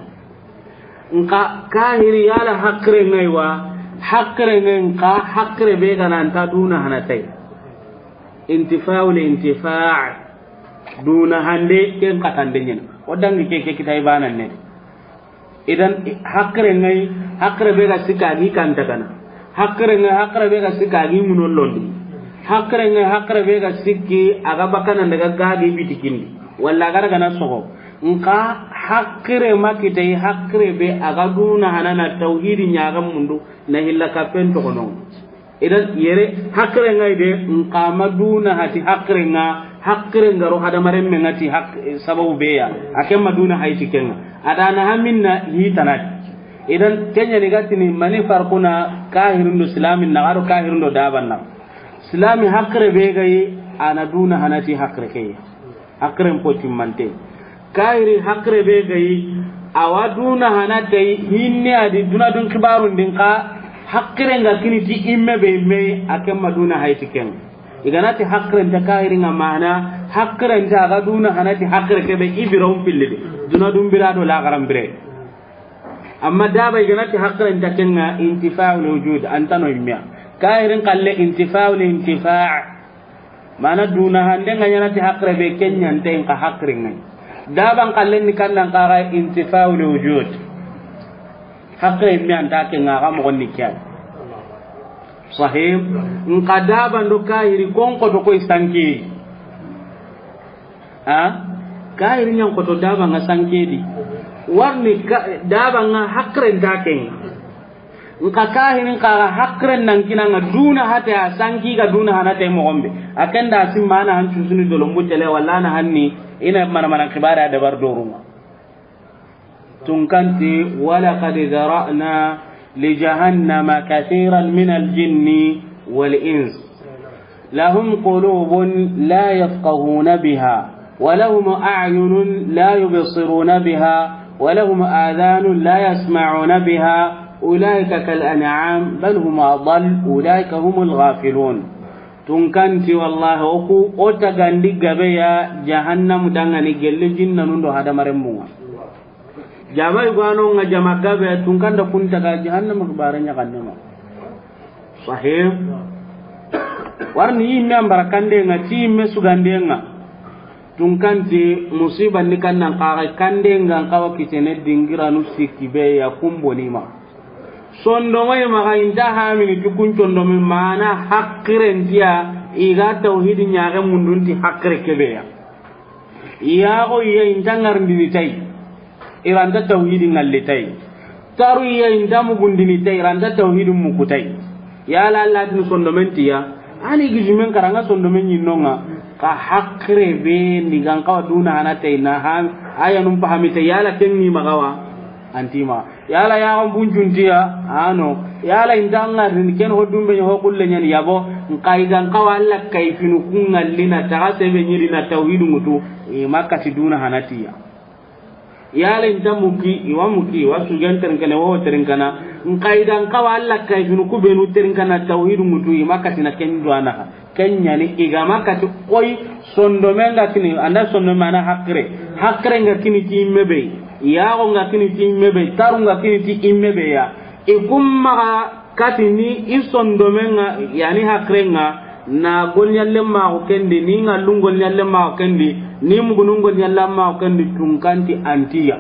Nka kahiri yala hakkire ŋaywa. Hakkire ŋay nka hakkire be gana anta duna hanatay. Intifa'u l intifa'. Duna hande ken katande ɲen. O dangi ke, ke kitay banan ne. Idan, hakkire ŋa yi, hakkire be ga sikka a gi kanta gana. Hakkire ŋa yi, hakkire be ga sikka a gi ŋuno londi. Hakkire ŋa yi, hakkire be ga sikki a ga bakana daga ga gi bitikindi. Walla a ga daga na sogo. Nka hakkire ma kitay, hakkire be a ga duna hanana tawhidi ɲaga mundu na hilla kapen toxono. Idan yere hakkire ŋa yi de, nka ma duna hati hakkire ŋa, hakkire ŋa ro hadamaren me ŋa ti hak-, sababu be ya, a ke ma duna hayti ke ŋa. A da na haminna hitanati. Idan ke ɲa ni ga tini mani farkuna kahirin do silamin na, a do kahirin do daban na. Silami hakkire be ga yi, a na duna hanati hakkire ke ya. Hakkiren potimmante. Kahiri hakkire be ga yi, a wa duna hana tay hinne a di duna dun kibarun din ka, hakkire ŋa kini ti imme be imme, a ke ma duna hayti ken. I ga na ti hakkire nta kahiri ŋa mana, hakkire nta a ga duna hana ti hakkire ke be i bira un pilli de. Duna dun bira do lagaran bire. Amma daba i ga na ti hakkire nta ken ŋa, intifa'u l wujud, a nta no imme ya. Kahirin kalle intifa'u l intifa'. Mana duna hande ŋa ɲa na ti hakkire be ke ɲa nta in ka hakkire ŋa yi. Daban kallen ni kannan ka ga intifa'u l wujud. Hakkire me anta ke ŋa ga mo ni kya. Sahih. Nka daban do kahiri kon ko to koy sanki. Ha? Kahiri ɲan ko to daban ŋa sanki di. Warni ka, daban ŋa hakkire nta ke ŋa. Nka kahirin ka ga hakkiren nan kina ŋa duna hate a sanki ga duna hanate moxon be. A ken da simma na han cusuni dolombu tele walla na hanni ina mana mana kibare a dabar dorun ŋa. Tunkanti, ولقد ذرأنا لجهنم كثيرا من الجن والإنس. لهم قلوب لا يفقهون بها، ولهم أعين لا يبصرون بها، ولهم آذان لا يسمعون بها، أولئك كالأنعام بل هم أضل، أولئك هم الغافلون. Tunkanti, wallahi, o ku, o tagandi gabe ya jahannamu dangani gelle jinnanun do hadamaren munga. Jama igwano nga jama gabe, tunkanda kunta ga jahannama kibare ɲaxannema. Sahih. Warni yimme an bara kande nga, ti yimme sugande nga. Tunkanti musiba ni kannan kaga kande nga, kawa kitene dingiranu sikki be ya kumbonima. Sondomai maga inta hamini tukun sondomi mana hakkirentiya, iga tawhidi ɲaxe mundunti hakkire kebeya. Yaxo iya inta ŋarindini tay, iranta tawhidi ŋalli tay. Taru iya inta mugundini tay, iranta tawhidi muku tay. Yala Allah tini sondomen tiya, ani gijumen karanga sondomen ɲinnonga, ka hakkire be ni gan kawa duna hana tay na ha, aya num pahami tay, yala ken ni magawa, antima. Yala yaxon buncuntiya, ano. Yala inta ŋarini ken ho dumbe ho kulle ɲani yabo, nka igan kawa Allah kayfinu ku ŋalli na taga sebe ɲiri na tawhidu ŋutu, i makati duna hanatiya. Yala inta muki, iwa muki, iwa sugen terinkana, iwa terinkana, nka igan kawa Allah kayfinu ku benu terinkana tawhidu ŋutu, i makati na ken duanaha. Ken ɲani igama kati koy, sondomen ga kini, anda sondome ana hakkire. Hakkire nga kini ti imme be. Yaxo nga kini ti imme be. Taru nga kini ti imme be ya. I kumma ga kati ni i sondomen nga, yani hakkire nga, na golɲalle maxo kendi, ni ŋallun golɲalle maxo kendi, ni mugunun golɲalle maxo kendi, tunkanti antiya.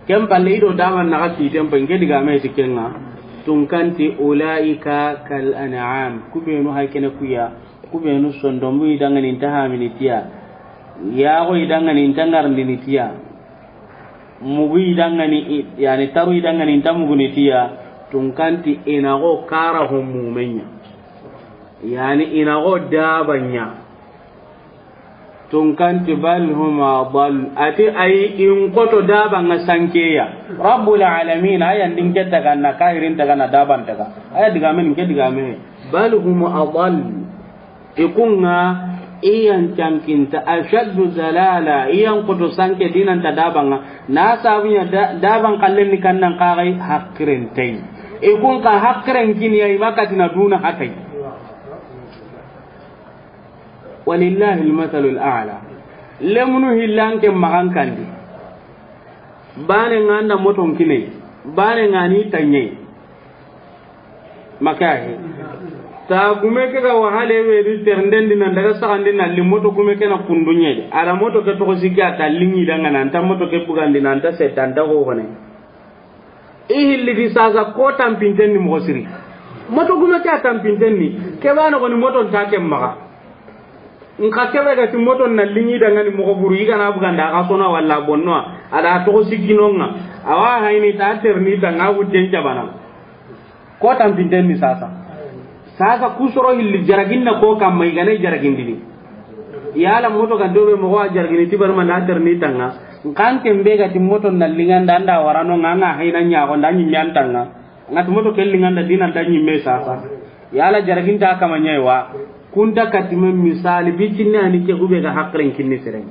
Ken palle ido daman naxa siten pa, nke digame ti kenga. Tunkanti, ulaika kal an'am. Kubenu hay kene kuya. Kubenu sondomu idangani inta hamini tiya. Yaxo idangani inta ŋarindini tiya. Mugu idangani i-, yani taru idangani inta muguni tiya. Tunkanti inaxo kara ho mumenya. Yani inaxo dabanya. Tunkanti, bal hum adall. Ati ayi, in koto daba nga sankeya. Rabbul alamin, aya ndin ke taga na kahirin taga na daban taga. Aya digame nke digame. Bal hum adall. Ikunga iyan cankinta ashaddu dalala, iyan koto sanke dinanta daba nga. Na sabunya da-, daban kallen ni kannan kagai hakkiren tay. Ikun ka hakkiren kiniya i makati na duna hatai. Walillahi almathalul a'la. Lemunu hillanke magan kandi. Bane nga anda moton kine. Bane nga ni tanye. Makahi. Ta gume ke ga wahale be di ternden di nan daga saxandi na li moto gume ke na kundu ɲe di. A da moto ke toxo sikki a ta liŋi dangana, an ta moto ke bugandi na, an ta setta, an ta hohone. I hilli di sasa ko tampinten ni moxo siri. Moto gume ke a tampinten ni. Ke ba noxo ni moto nta ke maxa. Nxa ke be ga ti moto na liŋi dangani moxo buru, i ga na buganda a ga sona walla bonno, a da toxo sikki no ŋa. Awa hayni ta terni ta ŋa wudden jabana. Ko tampinten ni sasa. Sasa ku soro hilli jaraginna ko kamma i ga na jaragindini. Yala moto ga dobe moxo a jaragini ti barma na terni ta ŋa. Nxa an ke be ga ti moto na liŋanda an da warano ŋa, ŋa hayna ɲaxo nda ɲimme an ta ŋa. Ŋa ti moto ke liŋanda dina nta ɲimme sasa. Yala jaraginta kama ɲa yi wa. Kunta katime misali bi kinni ani ke gube ga hakiren kinni seren.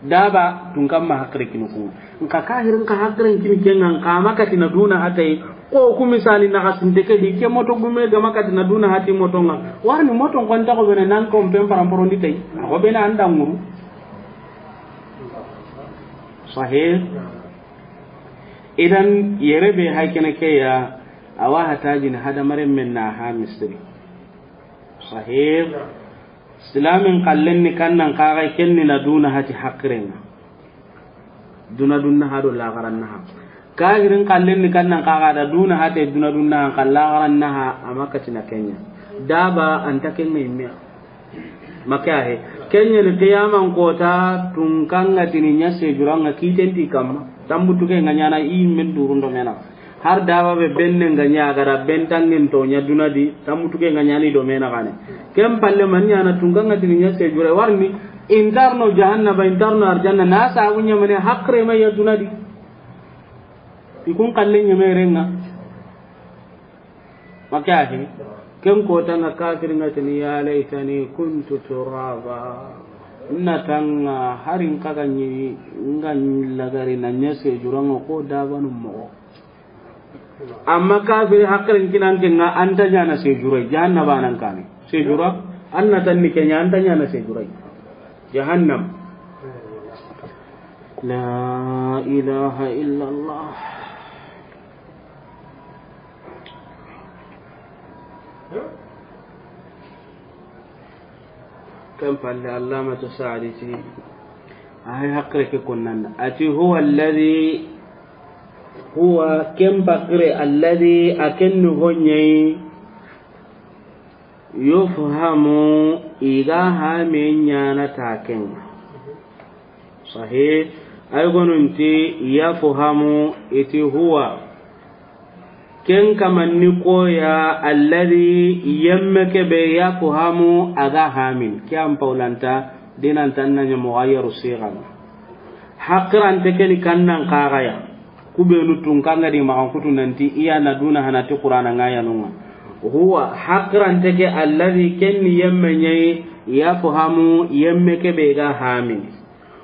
Daba tun kamma hakire kini ku. Nxa kahirin ka hakiren kini ke ŋa, nxa ma katina duna hatay. Ko ku misali na hasinte ke di ke moto gume ga ma katina duna hati moto ŋa. Warni moto kon ta ko bene nan ko pen paramporondi tay. Ko bene an da ŋuru. Sahih. Idan yere be haykene ke ya, awa hatajini hadamaren men na ha misiri. Sahih. Silamin kallen ni kannan kaga kenni na duna hati hakirenga. Duna dunna ha do lagaran naha. Kahirin kallen ni kannan kaga da duna hati duna dunna han kan lagaran naha, a ma katina kenya. Daba anta kenga imme. Make ahe. Kenya ni qiyaman kota tun kanga tini ɲa sejuranga kitenti kamma. Tambutu ke nga ɲana i men durundo mena. Har daba be benne nga ɲa gara bentangen to ɲa duna di, tambutu ke nga ɲani do mena gane. Ken palle man ɲana tun kanga tini ɲa sejure warni intarno jahannaba, intarno arjanna, na sabu ɲamane hakre ma ya duna di. Ikun kalle ɲame renga. Make ahe, ken kotanga kafir nga tini, "Ya laitani kuntu turaba." Na tanga harin kaga ɲi nga lagari na ɲa sejuranga ko dabanu moxo. Amma kafiri hakirin kinan ke nga anta ɲana sejura, jahannaba nan kane. Sejura, anna tanni kenya anta ɲana sejura. Jahannam. La ilaha illallah. Ken palle Allamatu Saadi ti, a hay hakkile ke konnanda. A ti, "Huwa alladhi, huwa ken bakire alladhi, a ken ni honɲeyi, yufhamu, i ga hame ɲana ta kenga." Sahih. Ay gonunti yafhamu, iti huwa. Ken kamanni koya, alladhi, yemme kebe, yafhamu, a ga hamin. Ke an paulanta, dinantan na ɲa mughayyaru sighan. Hakirante keni kannan kagaya. Kubenu tunkanga di maxan kutu nanti iya na duna hanati Qur'ana ngayanunga. Huwa, hakirante ke, alladhi, kenni yemme ɲayi, yafhamu, yemme kebe ga hamin.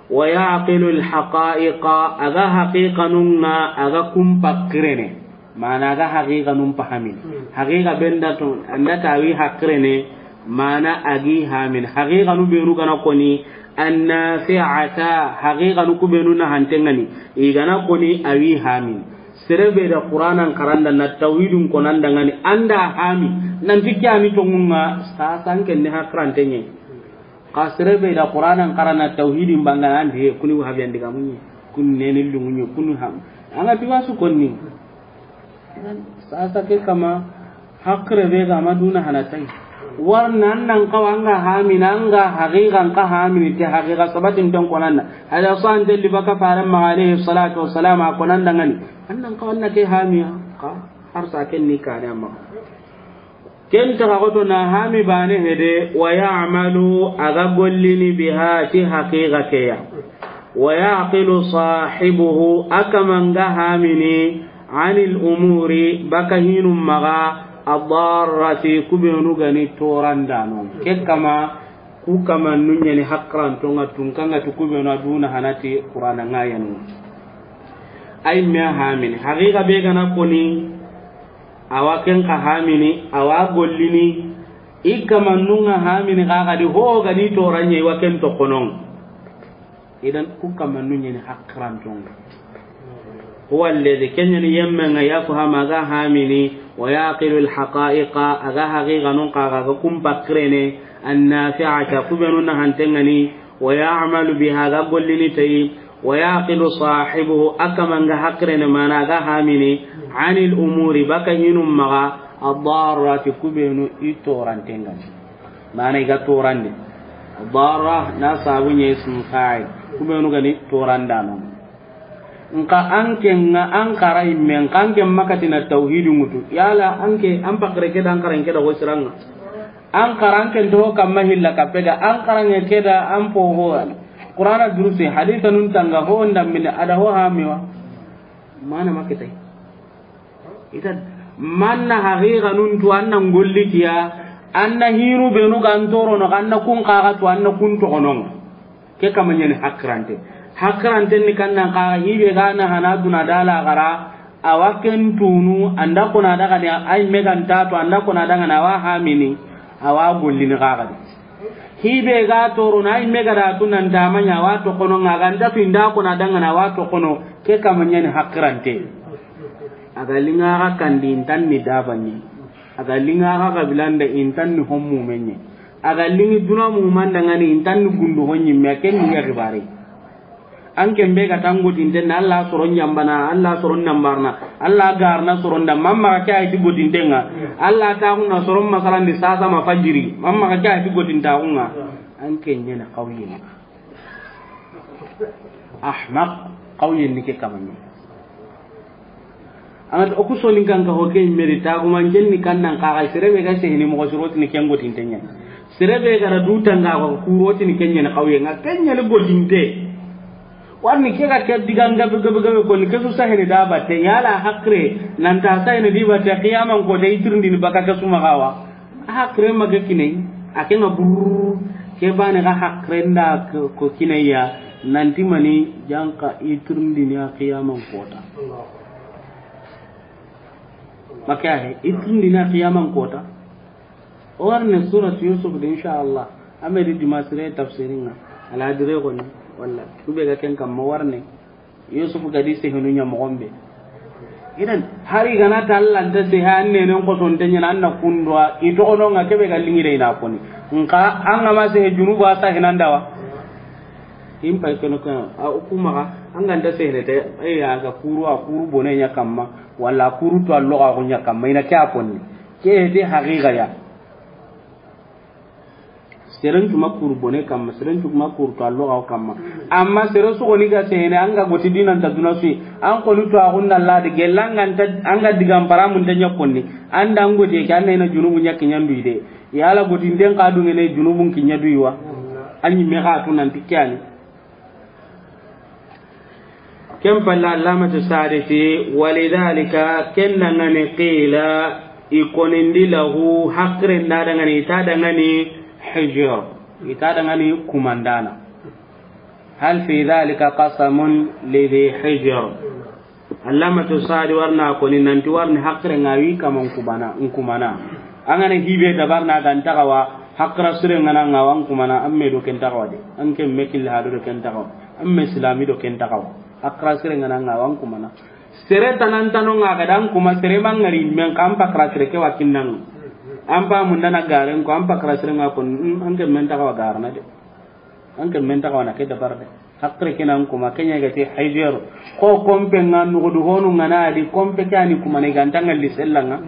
Wa ya'qilu al-haqa'iqa, a ga haqiqanunga, a ga kumpa kirene. Mana a ga haqiqanun pahamin. Hmm. Haqiqa benda to, anda tawi hakirene, mana a gi hamin. Haqiqanu benu gana koni, annafi'ata, haqiqanu kubenu na hantengani, i gana koni awi hamin. Serebe da Qur'anan karanda na tawhidun konanda ngani, anda hami, nanti kyani tongunga, sasan kenne hakirantenye. Ka serebe da Qur'anan karana tawhidin bangana ande kuni wahabiyan diga munye, kuni neni lungunye, kuni ham. Anga diwa su konni. Sasa ke kama hakre be ga maduna hanatai. Warna annan kawanga hamina anga haqiqan ka hamini te haqiqa sabatin ton konanda. Hada san delli baka faran ma alayhi salatu wassalam a konanda ngani. Annan kawanna ke hamiya ka har sa ken ni kane amma. Ken taga goto na hami bane hede, wa ya'malu, a ga gollini biha, ti haqiqa keya. Wa ya'qilu sahibuhu, a kamanga hamini, anil umuri, baka hinum maga, adarrati, kubenu gani torandano. Ke kama, ku kama nunyani hakrantonga tunkanga tu kubenu aduna hanati Qur'ana ngayanu. Ay me hamini, haqiqa be gana koni, awa ken ka hamini, awa gollini, i kamannunga hamini, ka gadi ho gadi toranye, iwa ken tokonon. Idan ku kamannu nyeni hakrantonga. هو الذي, ken ɲa ni yemme ŋa, يفهم, a ga hamini, ويعقل الحقائق, a ga haqiqanun kaga, a ga kun pakkirene, النافعة, ku benu nahantenŋani, ويعمل بها, a ga gollini tayi, ويعقل صاحبه, a kaman ga hakkirene, mana a ga hamini, عن الأمور, baka hinun maga, الضارة, ku benu i torantenŋani. Mana i ga torandi. الضارة na sabu ɲa ismu fa'il. Ku benu ga ni torandano. Nka an ke ŋa an kara imme, nka an ke ma katina tawhidi ŋutu. Yala an ke, an pakkire ke da an karan ke da ho siranŋa. An karan ke do kamma hilla kapega, an karan ke da an po ho an. Qur'ana durusi, haditha nun tanga ho ndamine, a da ho hamiwa. Mana makitai. Ita manna haqiqa nun tu anna ngolli kiya, anna hiru benu ga an torono, anna kun kaga tu, anna kun toxonon. Ke kama ɲani hakkirante. Hakkirante ni kannan kaga hibe ga na hana duna dala gara, a wa ken tunu, anda kona daga ni ay megan tatu, anda kona daga na wa hamini, a wa gollini kaga di. Hibe ga torono, ay mega da tu nan da manya wa toxono, nga ga nda tu inda kona daga na wa toxono, ke kama ɲani hakkirante. A ga linga ga kandi intan ni dabanni. A ga linga ga gabilanda intan ni hommu menye. A ga lingi duna mu manda ŋani intan ni gundu honni me ken ni ya gibare. An ke be ga tangotinte na Allah soron ɲambana, Allah soron nambarna, Allah garna soron da, mamma ga kya iti gotintenŋa, Allah ta hunna soron masalan di sasa ma fajiri, mamma ga kya iti gotinta hunna, an ke ɲana kawye. Ahmaq, kawye ni ke kamani. An ga ti o ku soninkan ka ho ke meri taguman ken ni kannan kaga, sere be ga sehini moxo sirotini ken gotinten ɲa. Sere be ga ra du tanga ko kurotini ken ɲa ni kawye ŋa, ken ɲa ni gotinte. Warni ke ga ke diga gabe gabe gabe ko ni ke su sahini da batte, yala hakkire nan ta sahini di batte, qiyaman ko de itirindi ni baka ke su ma gawa. Hakkire ma ke kinai, a ke ŋa burr, ke bane ga hakkire nda ko, ko kinai ya, nanti mani janka itirindi ni a qiyaman kota. Maka he, itirindi na qiyaman kota. O warne surat Yusuf de, insha Allah. Amedi dimasire tafsirinŋa. Ala dire ko ni, walla. Kube ga ken kamma warne. Yusuf ga di sehenu ɲa moxon be. Idan, hari gana ta Allah nta sehe an nenen kotonte ɲana an na kundwa, i toxono ŋa kebe ga lingire i na koni. Nka an ga ma sehe junubu a sahinan dawa. In pay kono ko, a, o ku maxa, an ga nta sehene te, ay, a ga kuru, a kuru bone ɲa kamma, walla a kuru to a loxo a xo ɲa kamma, i na ke a konni. Ke de haqiqa ya. Seren cu ma kuru bone kamma, seren cu ma kuru to a loxo a xo kamma. Amma sere su xoni ga sehene, an ga goti dinan ta duna su yi, an koni to a xunna ladi, gellan ga nta, an ga digan paramun ta ɲa konni, an da an goti ke, an na i na junubu ɲa kiɲandu yi de. Yala gotinten ka dungene junubun kiɲa duyiwa. A ɲimme xa tu nanti ke yani. Ken palla Allamatu Sa'di ti, walidhalika, ken dangani qila, i konindi lahu, hakkire nda dangani, i ta dangani hijr, i ta dangani kumandana. Hal fi dhalika qasamun li dhi hijr. Allamatu Sa'di warna koni nanti warni hakkire ŋa wi kaman kubana, nkumana. An ga na hibe dabarna ga nta xawa, hakkira sire ŋa na ŋa wa nkumana, an me do ken ta xawa de. An ke me kille ha do ken ta xawa. An me silami do ken ta xawa. Hakkira sire ŋa na ŋa wa nkumana. Sere tanantano ŋa ga dan kuma sere mangari men kan pakra sere ke wa kinnan. An pa mun dana garen ko an pakra sire ŋa kon, mm, an ke men ta xawa garna de. An ke men ta xawa na ke dabar de. Hakkire ke nan kuma, ke ɲa ga ti hijr. Ko kompe ŋa nugudu honu ŋa na di, kompe ke yani kuma ne ga nta ŋalli sella ŋa.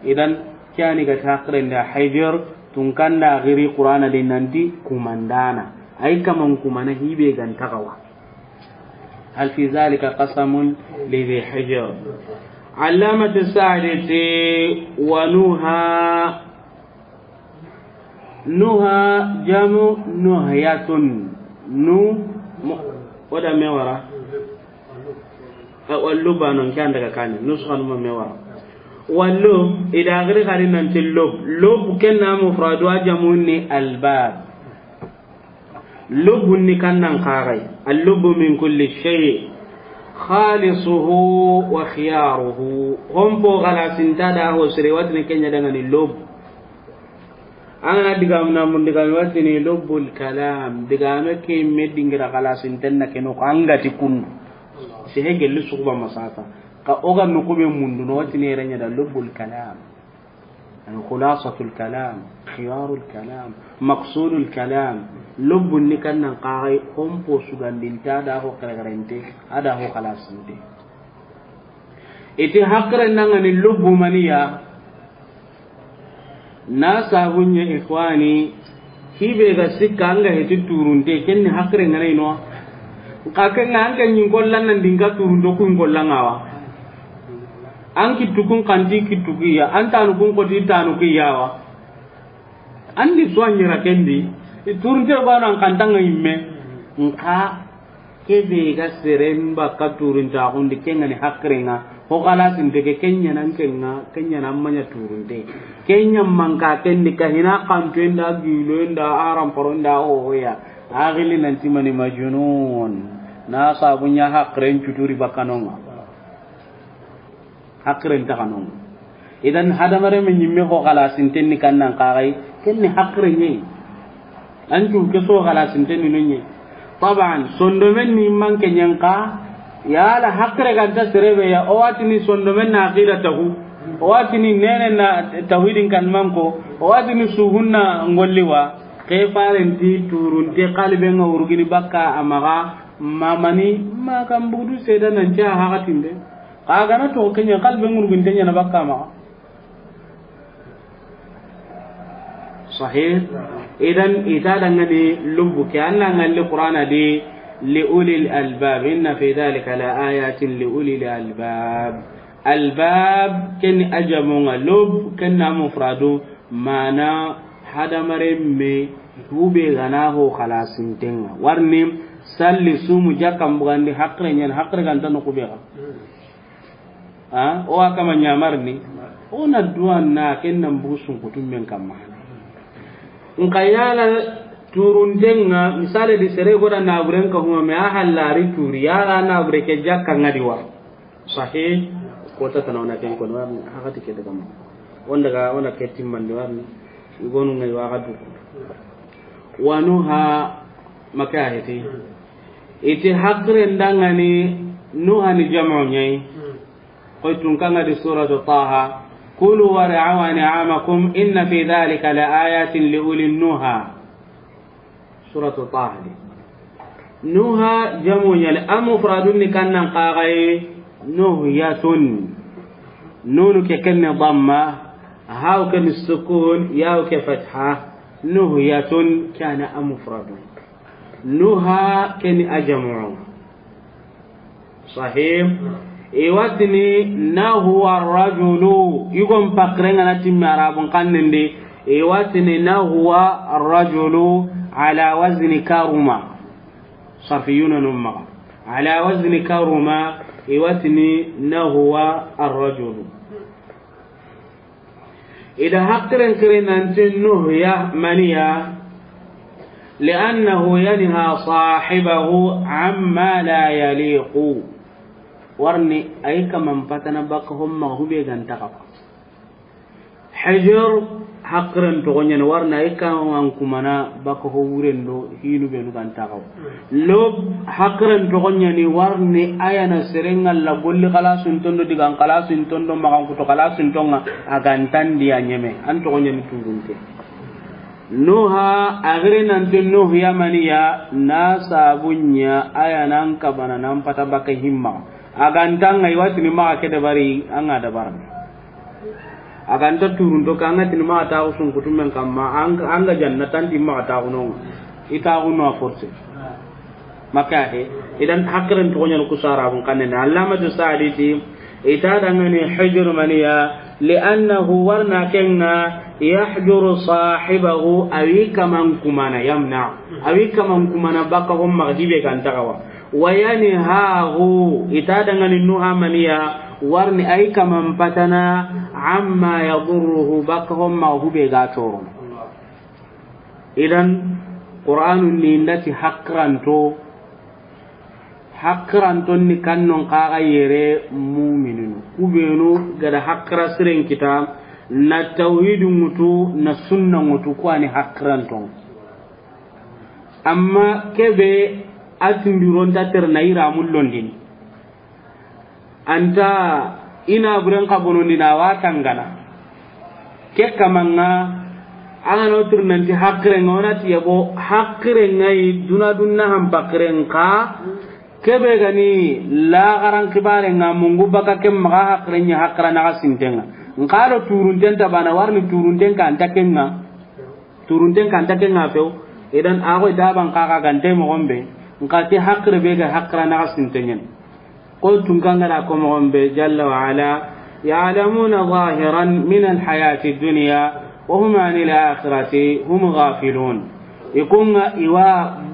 Idan, ke yani ga ti hakkire nda hijr, tun kanda giri Qur'ana de nanti kumandana. Ay kaman kumana hibe ga nta xawa. Hal fi dhalika qasamun li dhi hijr. Allamatu Sa'di ti, wa nuha. Nuha jamu nuhyatun. Nu, mo-, o da me wara? A, wa lubba non ke an daga kani. Nuskha nu ma me wara? Wa lub, i da giri gari nanti lub. Lub ken na mufradu a jamu ni albab. Lub ni kannan kagai. Al-lubbu min kulli shay'. Khalisuhu wa khiyaruhu. Hompo galasinta da ho sire watini ke ɲa dangani lub. An ga na digame na mun digame watini lubbul kalam. Digame ke me dingira galasinten na keno ko an ga ti kundu. Sehe gelli suxuba masata. Ka o ga noxu be mundu no, watini yere ɲa da lubbul kalam. Ani khulasatul kalam, khiyarul kalam, maqsudul kalam. Lubbun ni kan nan xaxay, xo n po sugandinta da xo xeregerente, a da xo xalasinte. I ti haqiren da ŋa ni lubbu maniya, na sabu ɲa, ikhwani, hi be ga sikka an ga heti turunte, ken ni haqiren ŋa na i no. Xa ken ŋa an ke ɲin kollan nan dinga turunto kun kollan ŋa wa. An kittukun xanti kittukiya, an tanukun xoti tanukiya wa. An di so a ɲira ken di, turunte bana an xanta ŋa yimme. Nxa ke be ga seren bakka turuntaxun di, ken ŋa ni haqiren ŋa, xo xalasinte ke, ken ɲa nan ken ŋa, ken ɲa nan maɲa turunte. Ken ɲa manka ken di ka hina xantoyen da, giloyen da, aramparon da, ohoya. A xili nanti mani majnun. Na sabu ɲa haqiren cuturi bakka no ŋa. Haqiren taxa no ŋa. Idan hadamaren me ɲimme xo xalasinten ni kan nan xaxay, ken ni haqiren ɲa yi. An cu ke so xalasinten ni no ɲa yi. Taban, sondomen ni manke ɲen xa, yala haqire ganta sere be ya, o watini sondomen na aqida taxu, o watini nene na tawhidin kan manko, o watini suhunna ngolli wa, ke farenti turunte xaliben ŋa wurugini bakka a maxa, mamani, ma kan bugudu seda nan ca haxatinde. Xa gana to ken ɲa xaliben ŋuruginte ɲa na bakka a maxa. Sahih. Idan i ta da ŋa ni lubbu ke, an na ŋalli Qur'ana di, li ulil albab, inna fi dhalika la ayatin li ulil albab. Albab, ken ni a jamu ŋa, lub, ken na mufradu, mana hadamaren me, hube gana ho xalasinten ŋa. Warni, salli, sumu, jakkan bugandi, haqire ɲa ni, haqire ganta no kube ga. A, o wa kama ɲamarni. O na duwa na ken nan bugu sunkutu men kamma. Nxa yala turunten ŋa, misale di sere goda naburen ka huma me a hallari turi, yala nabure ke jakka ŋa di wa. Sahih, ko ta tana wona ken ko no, hakati ke daga ma. Wonda ga wona ke timmandi warni. Igonu ŋa i wa ga duku. Wa nuha, maka heti. I ti haqiren da ŋa ni nuha ni jamu ɲa yi. Koy tun kan ŋa di suratu Taha. Kulu war'aw an'amakum inna fi dhalika la ayatin li ulin nuha. Suratu Taha di. Nuha jamu ɲa ni, a mufradun ni kan nan xaxay nuhyatun. Nunu ke ken ni damma, ha'u ke ni sukun, ya'u ke fatha. Nuhyatun kana a mufradun. Nuha ken ni a jamu. Sahih. I wa tini nahwa rajulu. Igon pakrenga na timmi arabun xannen di. I wa tini nahwa rajulu ala wazni karuma. Sarfiyuna num maxa. Ala wazni karuma. I wa tini nahwa arrajulu. I da haqiren kiri nanti nuhya maniya, li'annahu yanha sahibahu amma la yaliqu. Warni ay kaman patana baka homma hube ganta kafa. Hijr haqiren toxo ɲani, warni ay kaman kumana baka ho wuren do hinu benu ganta kafa. Lub haqiren toxo ɲani, warni ayana serenga la golli xalasun tondo, digan xalasun tondo, maxan kuto xalasun tonga, a gantan diya ɲeme, an toxo ɲani turunte. Nuha, a giri nanti nuhya maniya, na sabu ɲa, ayana an kabana nan pata baka himma. A gantanga i wa tini maxa ke dabari, an ga dabarni. A ganta turunto ka, an ga tini maxa taxu sunkutu men kamma, an, an ga janna tanti maxa taxu nonga. I taxu no a forcé. Maka he. Idan haqiren toxo ɲani ku sarabun xannen di. Allamatu Sa'di ti, i ta dangani hijr maniya, li'annahu warna kenga, yahjuru sahibahu, awi kaman kumana, yamna. Awi kaman kumana baka homma dibe ganta kawa. Wa yanhahu, i ta dangani nuha maniya, warni ay kaman patana, amma yadurruhu, baka homma hube ga toro. Idan, Qur'anun ni ndati haqiranto, haqiranton ni kannon kaga yere mumininu. Kubenu gada haqira siren kita, na tawhidu ŋutu, na sunna ŋutu, kuwani haqiranton. Amma kebe a tindironta tere na ira mullondini. Anta ina buren ka bonondi na wa tangana. Ke kamanga, an ga no turnanti haqiren ŋa, wona ti yabo haqiren ŋa yi duna dunna han paqiren ka. Kebe gani lagaran kibaren ŋa mungu baka ke maxa haqiren ɲa haqira naxa sinten ŋa. Nka do turunten ta bana warni turunten ka anta ken ŋa. Turunten ka anta ken ŋa few. Idan a go daban ka ga gante moxon be. Nka ke haqire be ga haqira naxa sinten ɲa. Ko tunkangara ko moxon be jalla wa ala, ya'lamuna zahiran min alhayati dunya wa hum anil akhirati hum ghafilun. Ikunga iwa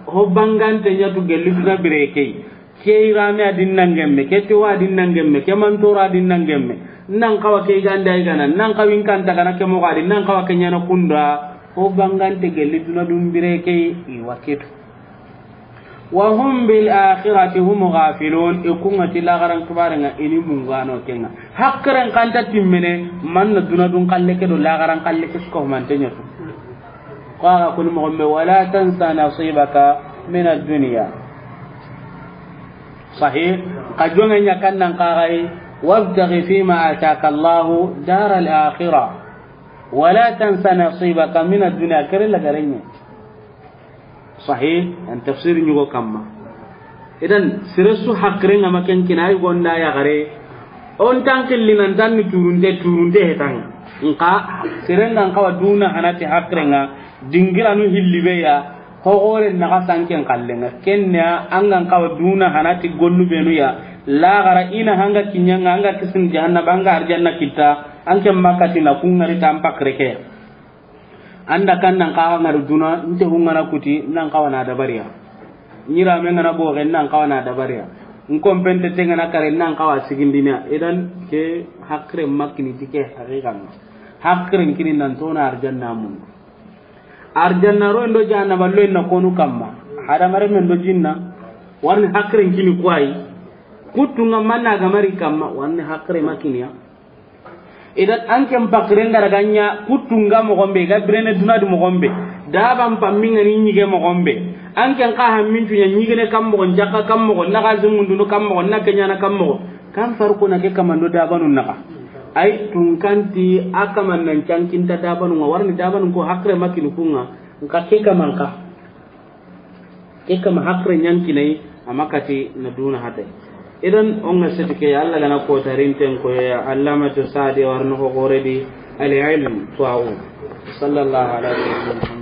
ho bangante ɲa tu gelli duna bire key. Ke irame adin nangemme, ke tewa adin nangemme, ke mantora adin nangemme. Nan kawa ke ganda igana, nan kawin kanta gana ke moxo adin, nan kawa ke ɲana kunda. Ho bangante gelli duna dun bire key iwa ketu. Wa hum bil akhirati hum ghafilun. Ikunga ti lagaran kibaren ŋa ini mungano kenga. Haqiren kanta timmene, manna duna dun kalle ke do lagaran kalle ke suko mante ɲa tu. Ko aga kuni moxon be, wala tansa nasibaka min ad-dunya. Sahih. Ka jonge ɲa kannan kagai, wabtaghi fima ataka Allahu daral akhirah. Wala tansa nasibaka min ad-dunya. Kere lagarenye. Sahih, an tafsir ɲugo kamma. Idan, sire su haqiren ŋa ma ken kina, ay gonda ya gare. On tan killi nan tan ni turunte, turunte hetan. Nka, siren ŋa an kawa duna hanati haqiren ŋa, dingiranu hilli be ya, ho gore naxa sanken kallen ŋa. Kenya, an ga an kawa duna hanati gollu benu ya, lagara ina hanga kinyanga, anga kisin jahannaba, anga arjanna kita, anke makati na kungari tan pakre ke. Anda kan nan kawa ngari duna, nte hungana kuti, nan kawa na dabariya. Nyira me ngana boge, nan kawa na dabariya. Nkompente tengana kare, nan kawa sigindina. Idan ke haqire makini tike haqiqan. Haqire kini nan tona arjanna mun. Arjanna ro ndo jahannaba lo na konu kamma. Hadamare men do jinna. Warni haqire kini kwai. Kutunga manna gamari kamma, warni haqire makiniya. Idan an ken pakiren gara ganya kutunga moxon be, ga birene duna du moxon be. Daban pamminga ni ɲige moxon be. An ken ka hammintu ɲa ɲigene kam moxo, jaka kam moxo, na ga zumundunu kam moxo, na kenyana kam moxo. Kan farko na ke kamando dabanu naxa. Ay tunkanti a kaman nan cankinta dabanu nga warni dabanu ko haqire makini kunga. Nka ke kaman ka. Ke kama haqire ɲankinai, a makati na duna hade. Idan, on ga seti ke, Allah gana ko tarinten ko ya, Allamatu Sa'di warno ho gore di, al-ilm tuwa'u. Sallallahu alaihi wa sallam.